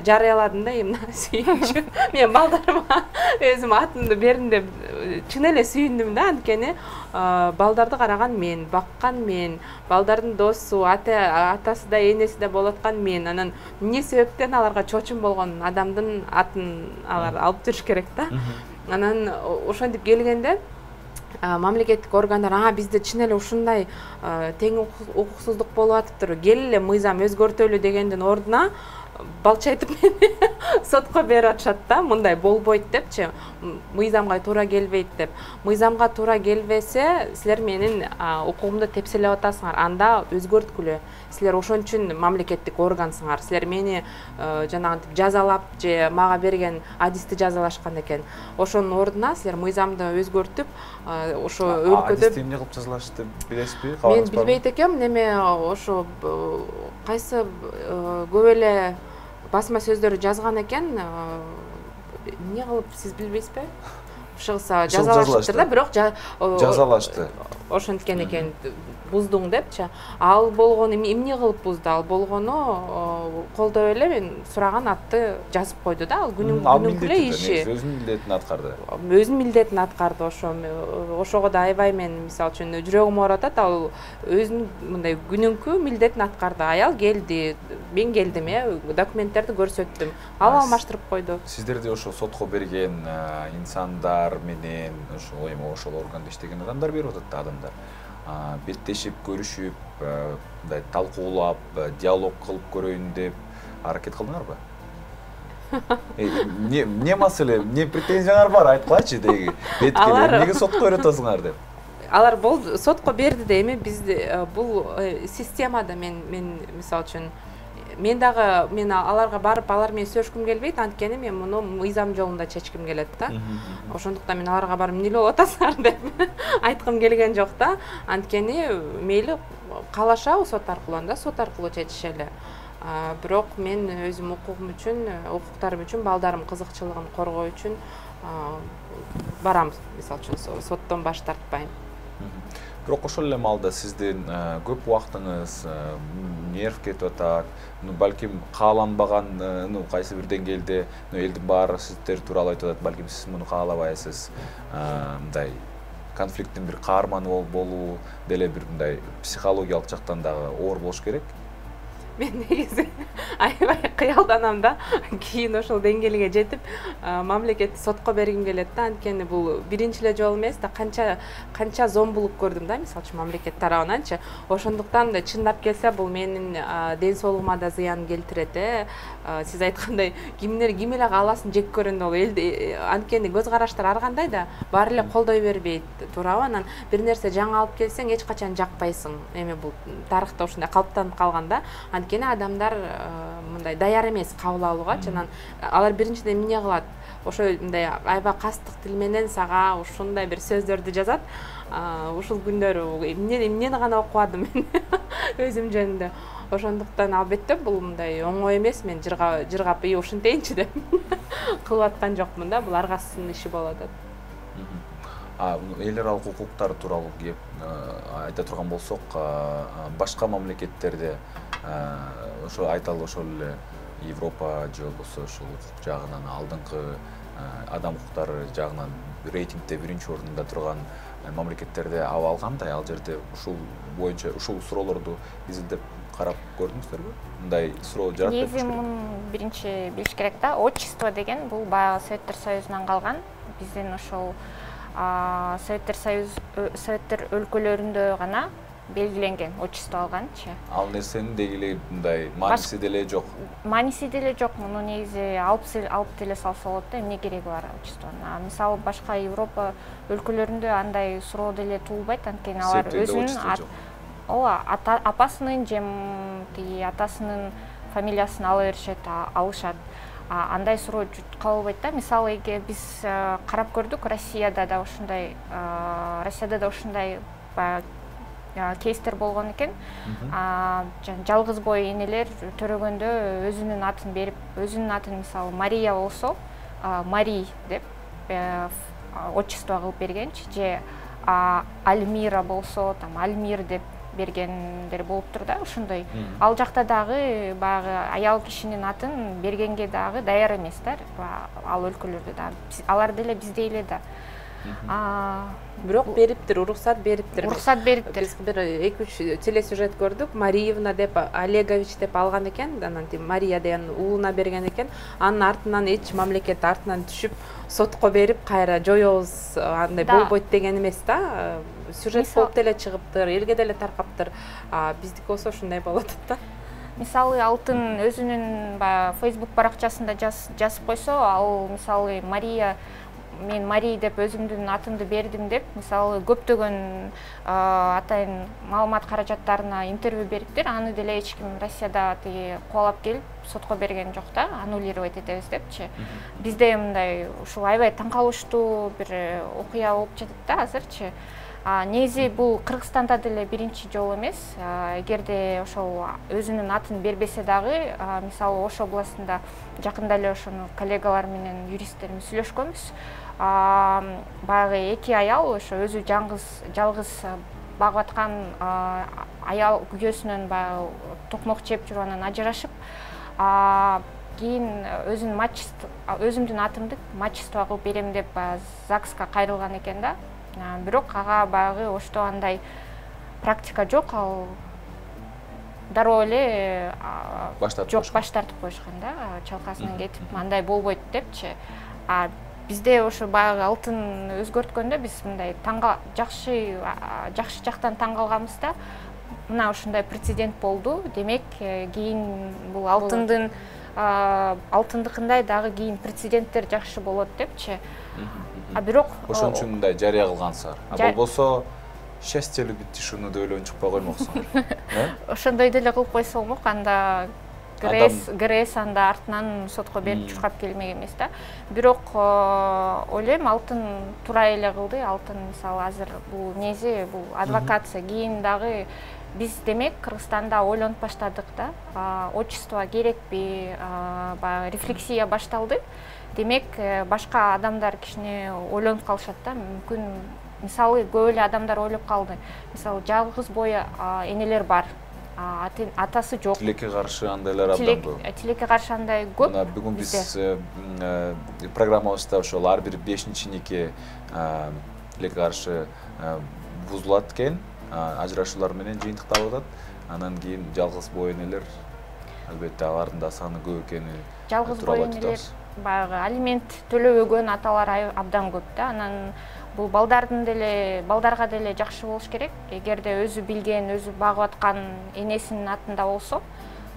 жарыяладым да, эмне сүйүнчү. Мен балдарыма өзүм атымды бердим деп чын эле сүйүндүм да, анткени балдарды караган мен, баккан мен, балдардын досу, атасы да, энеси да болуп аткан мен. Анан эмне себептен аларга чочум болгон адамдын атын алар алып жүрүш керек да. Анан ошентип келгенде мамлекеттик органдар бизде чын эле ушундай тең укуксуздук болуп атыптыр, кел эле мыйзам өзгөртөлү дегендин ордуна балчайтып мени сотко берип атышат да, мындай болбойт депчи, мыйзамга туура келбейт деп. Мыйзамга туура келбесе, силер менин укугумду тепселеп атасыңар, анда өзгөрткүлө. Силер ошон үчүн мамлекеттик органсыңар. Силер мени жанагынтип жазалап же мага берген адисти жазалашкан экен. Ошонун ордуна силер мыйзамды өзгөртүп, ошо өлкөдө адисти эмне кылып жазалашты билесизби? Мен билбейт экем, неме ошо кайсы көп эле басма сөздөрү жазган экен. Эмне кылып сиз билбейсизби? Шылса жазалашты да, бирок жазалашты. Ошенткен экен, буздуң депчи. Ал болгону эмне кылып бузду? Ал болгону колдоп эле мен сураган атты жазып койду да. Ал күнүмкү эле иши. Өзүнүн милдетин аткарды. Өзүнүн милдетин аткарды. Ошого да аябай мен мисалы үчүн жүрөгүм ооруп атат. Ал өзүнүн мындай күнүмкү милдетин аткарды. Аял келди, мен келдим, документтерди көрсөттүм. Ал алмаштырып койду. Сиздерди ошо сотко берген инсандар менен ошол органда иштеген адамдар берип атат да, адамдар. Беттешип, көрүшүп, мындай талкуулап, диалог кылып көрөйүн деп аракет кылдыңарбы? Эмне маселе, эмне претензияңар бар, айткылачы деги. Беткеле эмнеге сотко берип атасыңар деп. Алар болду, сотко берди да, эми бизде бул системада мен мисалы үчүн мен аларга барып алар менен сөйлөшкүм келбейт, анткени мен муну мыйзам жолунда чечким келет да. Ошондуктан мен аларга барып эмне болуп атасыңар деп айткым келген жок да. Анткени мейли каалашабы сот аркылуу, сот аркылуу чечишели. Бирок мен өзүм укугум үчүн, укуктарым үчүн, балдарым кызыкчылыгын коргоо үчүн барам, мисалы үчүн соттон баш тартпайм. Бирок ошол эле маалда сиздин көп убактыңыз нерв кетип атат, балким кааланбаган, кайсы бир деңгээлде элдин баары сиздер тууралуу айтып атат, балким сиз муну каалабайсыз, мындай конфликттин бир каарманы болуу деле бир мындай психологиялык жактан дагы оор болуш керек. Мен негизи аябай кыялданам да, кийин ошол деңгээлге жетип мамлекетти сотко бергим келет да, анткени бул биринчи эле жолу эмес да, канча зомбулук көрдүм да, мисалы үчүн мамлекет тарабынан. Ошондуктан да чындап келсе бул менин ден соолугума да зыян келтирет. Сиз айткандай ким эле кааласын жек көрөндө ал элди, анткени көз караштар ар кандай да, баары эле колдой бербейт, туурабы? Анан бир нерсе жаңы алып келсең эч качан жакпайсың. Эми бул тарыхта ушундай калыптанып калган да. Анткени адамдар мындай даяр эмес кабыл алууга, анан алар биринчиден эмне кылат? Ошо мындай аябай кастык тил менен сага ушундай бир сөздөрдү жазат. Ушул күндөрү эмнени гана окубадым мен өзүм жөнүндө. Ошондуктан албетте бул мындай оңой эмес, мен жыргап ушинтейинчи деп кылып аткан жокмун да, бул ар кайсынын иши болуп атат. Эл аралык укуктар тууралуу кеп айта турган болсок, башка мамлекеттерде ошо айталы ошол эле Европа же болбосо ушул укук жагынан алдыңкы адам укуктары жагынан рейтингде биринчи ордунда турган мамлекеттерде абал кандай? Ал жерде ушул боюнча ушул суроолорду изилдеп карап көрдүңүздөрбү? Мындай суроо жарат деп негизи муну биринчи билиш керек да. Отчество деген бул баягы Советтер Союзунан калган. Биздин ошол Советтер өлкөлөрүндө гана белгиленген отчество алганчы. Ал нерсенин дегиле мындай мааниси деле жок. Мааниси деле жок. Муну негизи алып деле салса болот да, эмне кереги бар отчествонун. Мисалы башка Европа өлкөлөрүндө андай суроо деле туулбайт, анткени алар өзүнүн апасынын же тиги атасынын фамилиясын ала беришет, алышат. Андай суроо кабылбайт да. Мисалы биз карап көрдүк, Россияда да ушундай кейстер болгон экен. Жалгыз бой энелер төрөгөндө өзүнүн атын берип, өзүнүн атын мисалы Мария болсо, Мари деп отчество кылып бергенчи, же Альмира болсо, там Альмир деп бергендер болуптур да, ошондой. Ал жакта дагы баягы аял кишинин атын бергенге дагы даяр эмес да, ал өлкөлөрдө да. Алар деле биздей эле да. Бирок бериптир, уруксат бериптир. Биз бир 2-3 телесюжет көрдүк. Мариевна деп Олегович деп алган экен, анан Мария деген уулуна берген экен. Анын артынан эч мамлекет артынан түшүп сотко берип кайра жоёбуз, андай болбойт деген эмес да. Сюжет болуп деле чыгыптыр, элге деле таркаптыр. Биздики болсо ушундай болот да. Мисалы алтын өзүнүн Facebook баракчасында жазып койсо, ал мисалы Мария, мен Мари деп өзүмдүн атымды бердим деп, мисалы көптөгөн атайын маалымат каражаттарына интервью бериптир. Аны деле эч ким Россияда кубалап келип сотко берген жок да, аннулировать этебиз депчи. Бизде мындай ушул аябай таң калыштуу бир окуя болуп жатат да азырчы. Негизи бул Кыргызстанда деле биринчи жолу эмес. Эгерде ошол өзүнүн атын бербесе дагы, мисалы Ош областында жакында эле ошону коллегалар менен юристтерimiz сүйлөшкөнбүз. Баягы 2 аял ошо өзү жалгыз багып аткан аял күйөөсүнөн баягы токмок жеп жүрүп анан ажырашып, кийин өзүмдүн атымды мачество кылып берем деп ЗАГСка кайрылган экен да. Бирок ага баягы Ошто андай практика жок, ал дароо эле баш тартып коюшкан да, чалкасынан кетип, андай болбойт депчи. Бизде ошо баягы алтын өзгөрткөндө биз мындай жакшы жактан таң калганбыз да. Мына ушундай прецедент болду. Демек, кийин бул алтындыкындай дагы кийин прецеденттер жакшы болот депчи. Бирок ошон үчүн мындай жарыя кылгансыңар. Болбосо счастьелүү биттиш уну деп эле унчукпай коймоксуңар. Ошондой деле кылып койсо болмок, анда ГРС анда артынан сотко берип чуркап келмек эмес да. Бирок ойлойм, алтын туура эле кылды. Алтын мисалы азыр бул негизи бул адвокация, кийин дагы биз демек Кыргызстанда ойлонуп баштадык да. Отчество керекпи, баягы рефлексия башталды. Демек, башка адамдар кичине ойлонуп калышат да. Мүмкүн мисалы көп эле адамдар ойлоп калды. Мисалы жалгыз бой энелер бар. Атасы жок. Тилекке каршы андайлар абдан көп. Тилекке каршы андай көп. Мына бүгүн биз программабызда ошол ар бир 5-чи нике тилекке каршы бузулат экен, ажырашуулар менен жыйынтыкталып атат. Анан кийин жалгыз бой энелер, албетте алардын да саны көп экени. Жалгыз бой энелер баягы алимент төлөбөгөн аталар абдан көп да. Анан бул балдарга деле жакшы болуш керек. Эгерде өзү билген, өзү багып аткан энесинин атында болсо,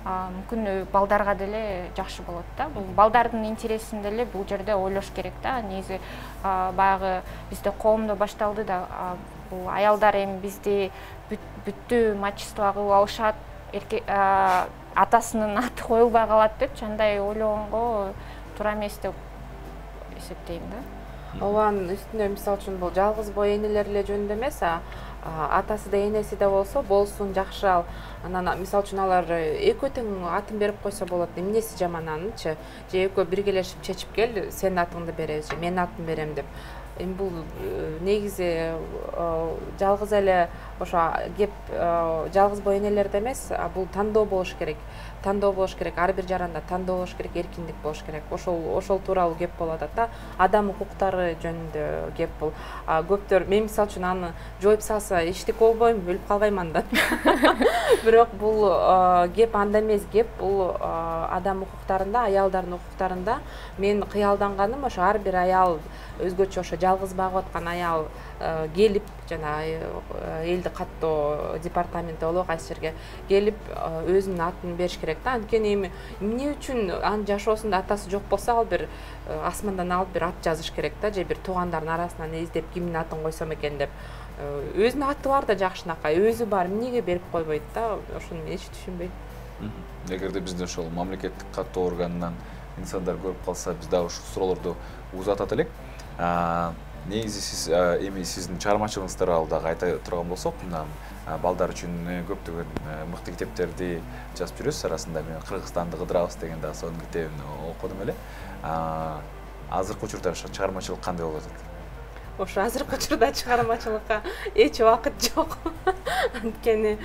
мүмкүн балдарга деле жакшы болот да. Бул балдардын интересин деле бул жерде ойлош керек да. Негизи баягы бизде коомдо башталды да, бул аялдар эми бизди бүттү мачество кылып алышат, атасынын аты коюлбай калат депчи, андай ойлогонго туура эмес деп эсептейм да. Ованын үстүнө мисалы үчүн бул жалгыз бой энелер эле жөнүндө эмес, атасы да энеси да болсо болсун, жакшы ал. Анан мисалы үчүн алар экөө тең атын берип койсо болот. Эмнеси жаман анынчы? Же экөө биргелешип чечип кел, сенин атыңды беребиз же менин атымды берем деп. эми бул негизи жалгыз эле ошо кеп жалгыз боо энелерде эмес, бул тандоо болуш керек. Тандоо болуш керек, ар бир жаранда тандоо болуш керек, эркиндик болуш керек. Ошол тууралуу кеп болуп атат да. Адам укуктары жөнүндө кеп бул. Көптөр мен мисалы үчүн аны жоюп салса эчтеке болбойм, өлүп калбайм андан. Бирок бул кеп анда эмес, кеп бул адам укуктарында, аялдардын укуктарында. Мен кыялданганым ошо ар бир аял өзгөчө ошо жалгыз багып аткан аял келип жана элди каттоо департаменти болобу кайсы жерге келип өзүнүн атын бериш керек да. Анткени эми эмне үчүн анын жашоосунда атасы жок болсо ал бир асмандан алып бир ат жазыш керек да, же бир туугандардын арасынан издеп кимдин атын койсом экен деп. Өзүнүн аты бар да жакшынакай, өзү бар, эмнеге берип койбойт да, ошону мен эч түшүнбөйм. Эгерде бизде ошол мамлекеттик каттоо органынан инсандар көрүп калса, биз дагы ушул суроолорду узатат элек. Негизи сиз эми сиздин чыгармачылыгыңыз тууралуу дагы айта турган болсок, мына балдар үчүн көптөгөн мыкты китептерди жазып жүрөсүз. Арасында мен Кыргызстанды кыдырабыз деген дагы сонун китебин окудум эле. Азыркы учурда ошо чыгармачылык кандай болуп атат? Ошо азыркы учурда чыгармачылыкка эч убакыт жок. Анткени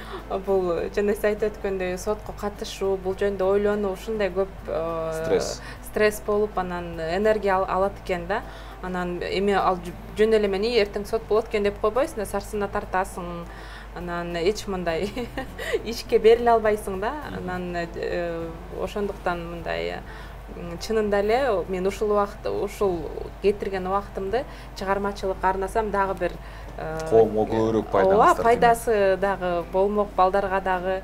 бул жана сиз айтып өткөндөй сотко катышуу, бул жөнүндө ойлонуу ушундай көп стресс болуп, анан энергия алат экен да. Анан эми ал жөн эле мен эртең сот болот экен деп койбойсуң да, сарсына тартасың. Анан эч мындай ишке бериле албайсың да. Анан ошондуктан мындай чынында эле мен ушул кетирген убактымды чыгармачылыкка арнасам дагы бир коомго көбүрөөк пайдасы дагы болмок, балдарга дагы.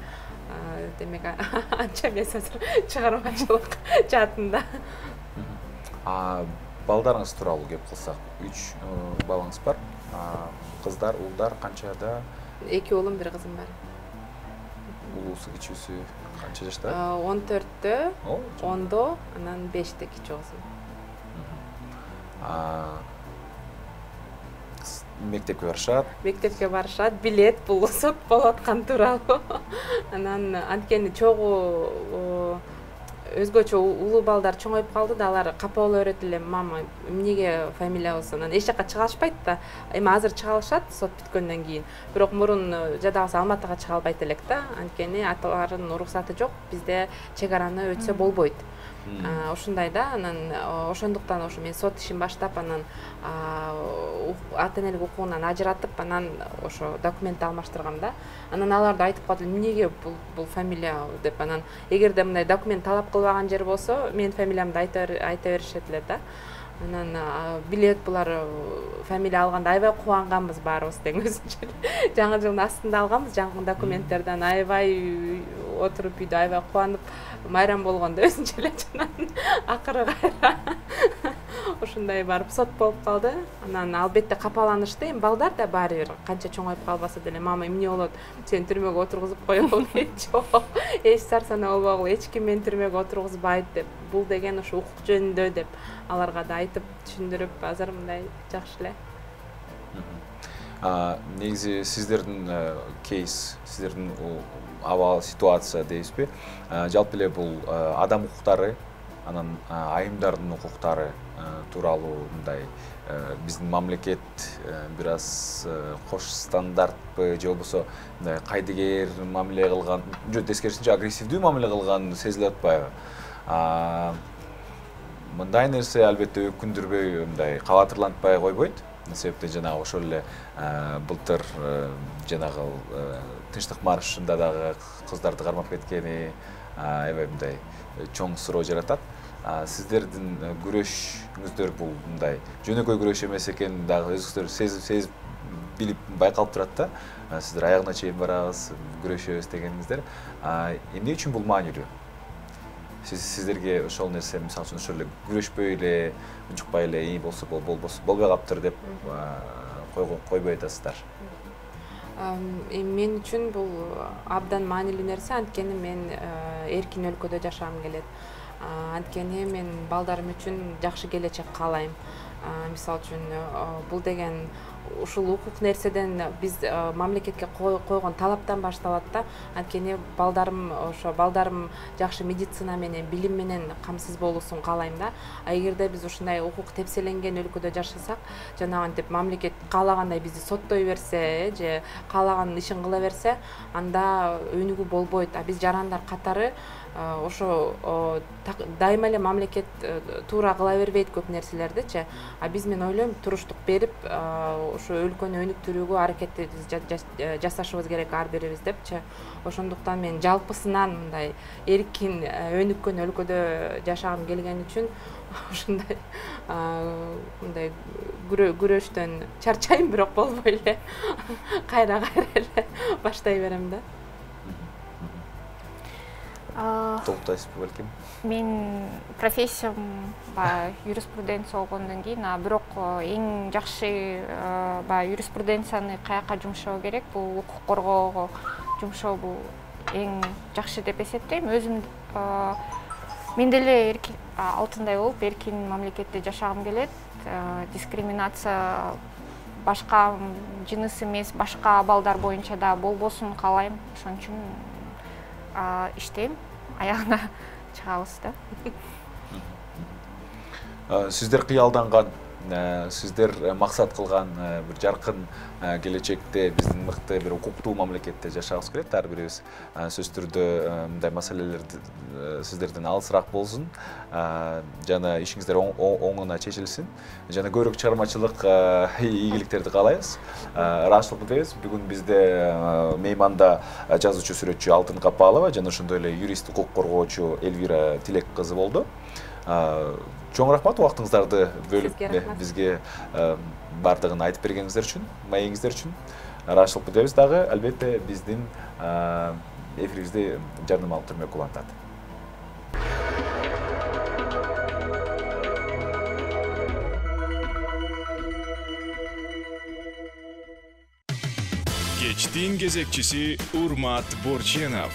Демек анча эмес азыр чыгармачылык жаатында. Балдарыңыз тууралуу кеп калсак, 3 балаңыз бар. Кыздар, уулдар канчада? 2 уулум, 1 кызым бар. Улуусу, кичүүсү канча жашта? 14-тө, 10-до, анан 5-те кичүү кызым. Мектепке барышат? Мектепке барышат, билет бул сот болуп аткан тууралуу. Анан анткени чогуу өзгөчө улуу балдар чоңоюп калды да, алар капа боло берет эле, мама эмнеге фамилиябыз, анан эч жака чыга алышпайт да. Эми азыр чыга алышат сот бүткөндөн кийин. Бирок мурун жадабаса Алматыга чыга албайт элек да, анткени аталардын уруксаты жок, бизде чек араны өтсө болбойт. Ушундай да, анан ошондуктан ошо мен сот ишин баштап, анан ата энелик укугунан ажыратып, анан ошо документти алмаштыргам да. Анан алар да айтып калды, эмнеге бул фамилия деп. Анан эгерде мындай документ талап кылбаган жер болсо, менин фамилиямды айта беришет эле да. Анан билет булар фамилия алганда аябай кубанганбыз баарыбыз тең өзүнчө. Жаңы жылдын астында алганбыз жаңы документтерден, аябай отуруп үйдө аябай кубанып майрам болгондо өзүнчө эле жанан акыры кайра ушундай барып сот болуп калды. Анан албетте капаланышты. Эми балдар да баары бир канча чоңоюп калбаса деле, мама эмне болот, сени түрмөгө отургузуп коелу, жок, эч сарсана болбогула, эч ким мени түрмөгө отургузбайт деп. Бул деген ошо укук жөнүндө деп аларга да айтып түшүндүрүп, азыр мындай жакшы эле. Негизи сиздердин кейс, сиздердин абал ситуация дейбизби? Жалпы эле бул адам укуктары, анан айымдардын укуктары тууралуу мындай биздин мамлекет бир аз кош стандартпы, же болбосо мындай кайдыгер мамиле кылган, же тескерисинче агрессивдүү мамиле кылган сезилип атпайбы? Мындай нерсе албетте өкүндүрбөй, мындай кабатырлантпай койбойт. Себепте жанагы ошол эле былтыр жанагы тынчтык маршында дагы кыздарды кармап кеткени аябай мындай чоң суроо жаратат. Сиздердин күрөшүңүздөр бул мындай жөнөкөй күрөш эмес экен дагы өзүңүздөр сезип билип байкалып турат да. Сиздер аягына чейин барабыз, күрөшөбүз дегениңиздер. Эмне үчүн бул маанилүү? Сиздерге ошол нерсе, мисалы үчүн ошол эле күрөшпөй эле, унчукпай эле, болсо болбосо болбой калыптыр деп койбой атасыздар. Мен үчүн бул абдан маанилүү нерсе, анткени мен эркин өлкөдө жашагым келет. Анткени мен балдарым үчүн жакшы келечек каалайм. Мисалы үчүн бул деген ушул укук нерседен биз мамлекетке койгон талаптан башталат да. Анткени балдарым жакшы медицина менен, билим менен камсыз болуусун каалайм да. Эгерде биз ушундай укук тепселенген өлкөдө жашасак, жанагынтип мамлекет каалагандай бизди соттой берсе, же каалаган ишин кыла берсе, анда өнүгүү болбойт. А биз жарандар катары ошо дайыма эле мамлекет туура кыла бербейт көп нерселердичи. А биз мен ойлойм туруштук берип ошо өлкөнү өнүктүрүүгө аракетти жасашыбыз керек ар бирибиз депчи. Ошондуктан мен жалпысынан мындай эркин өнүккөн өлкөдө жашагым келген үчүн ушундай мындай күрөштөн чарчайм, бирок болбой эле кайра эле баштай берем да. Толуктайсызбы балким? Мен профессиям юриспруденция болгондон кийин, бирок эң жакшы юриспруденцияны каяка жумшоо керек, бул укук коргоого жумшоо бул эң жакшы деп эсептейм. Өзүм мен деле алтындай болуп эркин мамлекетте жашагым келет. Дискриминация башка жыныс эмес, башка абалдар боюнча да болбосун каалайм. Ошон үчүн иштейм, аягына чыгабыз да. Сиздер кыялданган, сиздер максат кылган бир жаркын келечекте биздин мыкты бир укуктуу мамлекетте жашагыбыз келет. Ар бирибиз сөзсүз түрдө мындай маселелерди сиздерден алысыраак болсун, жана ишиңиздер оңуна чечилсин, жана көбүрөөк чыгармачылык ийгиликтерди каалайбыз. Ыраазычылык билдиребиз. Бүгүн бизде мейманда жазуучу, сүрөтчү Алтын Капалова жана ошондой эле юрист, укук коргоочу Элвира Тилек кызы болду. Чоң рахмат убактыңыздарды бөлүп бизге бардыгын айтып бергениңиздер үчүн, маегиңиздер үчүн. Ыраазычылык билдиребиз дагы, албетте биздин эфирибизди жардам алып турмак улантат. Кечтин кезекчиси Урмат Борченов.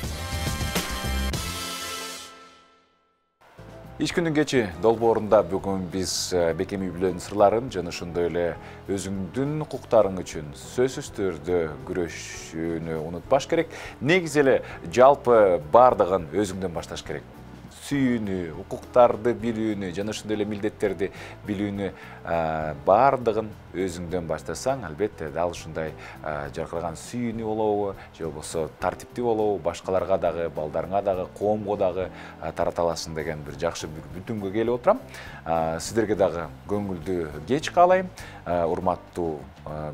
Иш күндүн кечи долбоорунда бүгүн биз Бекем үй бүлөнүн сырларын жана ошондой эле өзүңдүн укуктарың үчүн сөзсүз түрдө күрөшүүнү унутпаш керек. Негизи эле жалпы бардыгын өзүңдөн башташ керек. Сүйүүнү, укуктарды билүүнү жана ошондой эле милдеттерди билүүнү бардыгын өзүңдөн баштасаң, албетте дал ушундай жаркыраган сүйүүнү болобу, же болбосо тартиптүү болобу, башкаларга дагы, балдарыңа дагы, коомго дагы тарата аласың деген бир жакшы бүтүнгө келип отурам. Сиздерге дагы көңүлдүү кеч каалайм. Урматтуу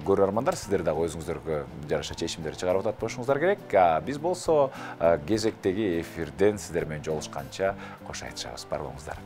көрөрмандар, сиздер дагы өзүңүздөргө жараша чечимдер чыгарып атат болушуңуздар керек. Биз болсо кезектеги эфирден сиздер менен жолугушканча кош айтышабыз. Бар болуңуздар.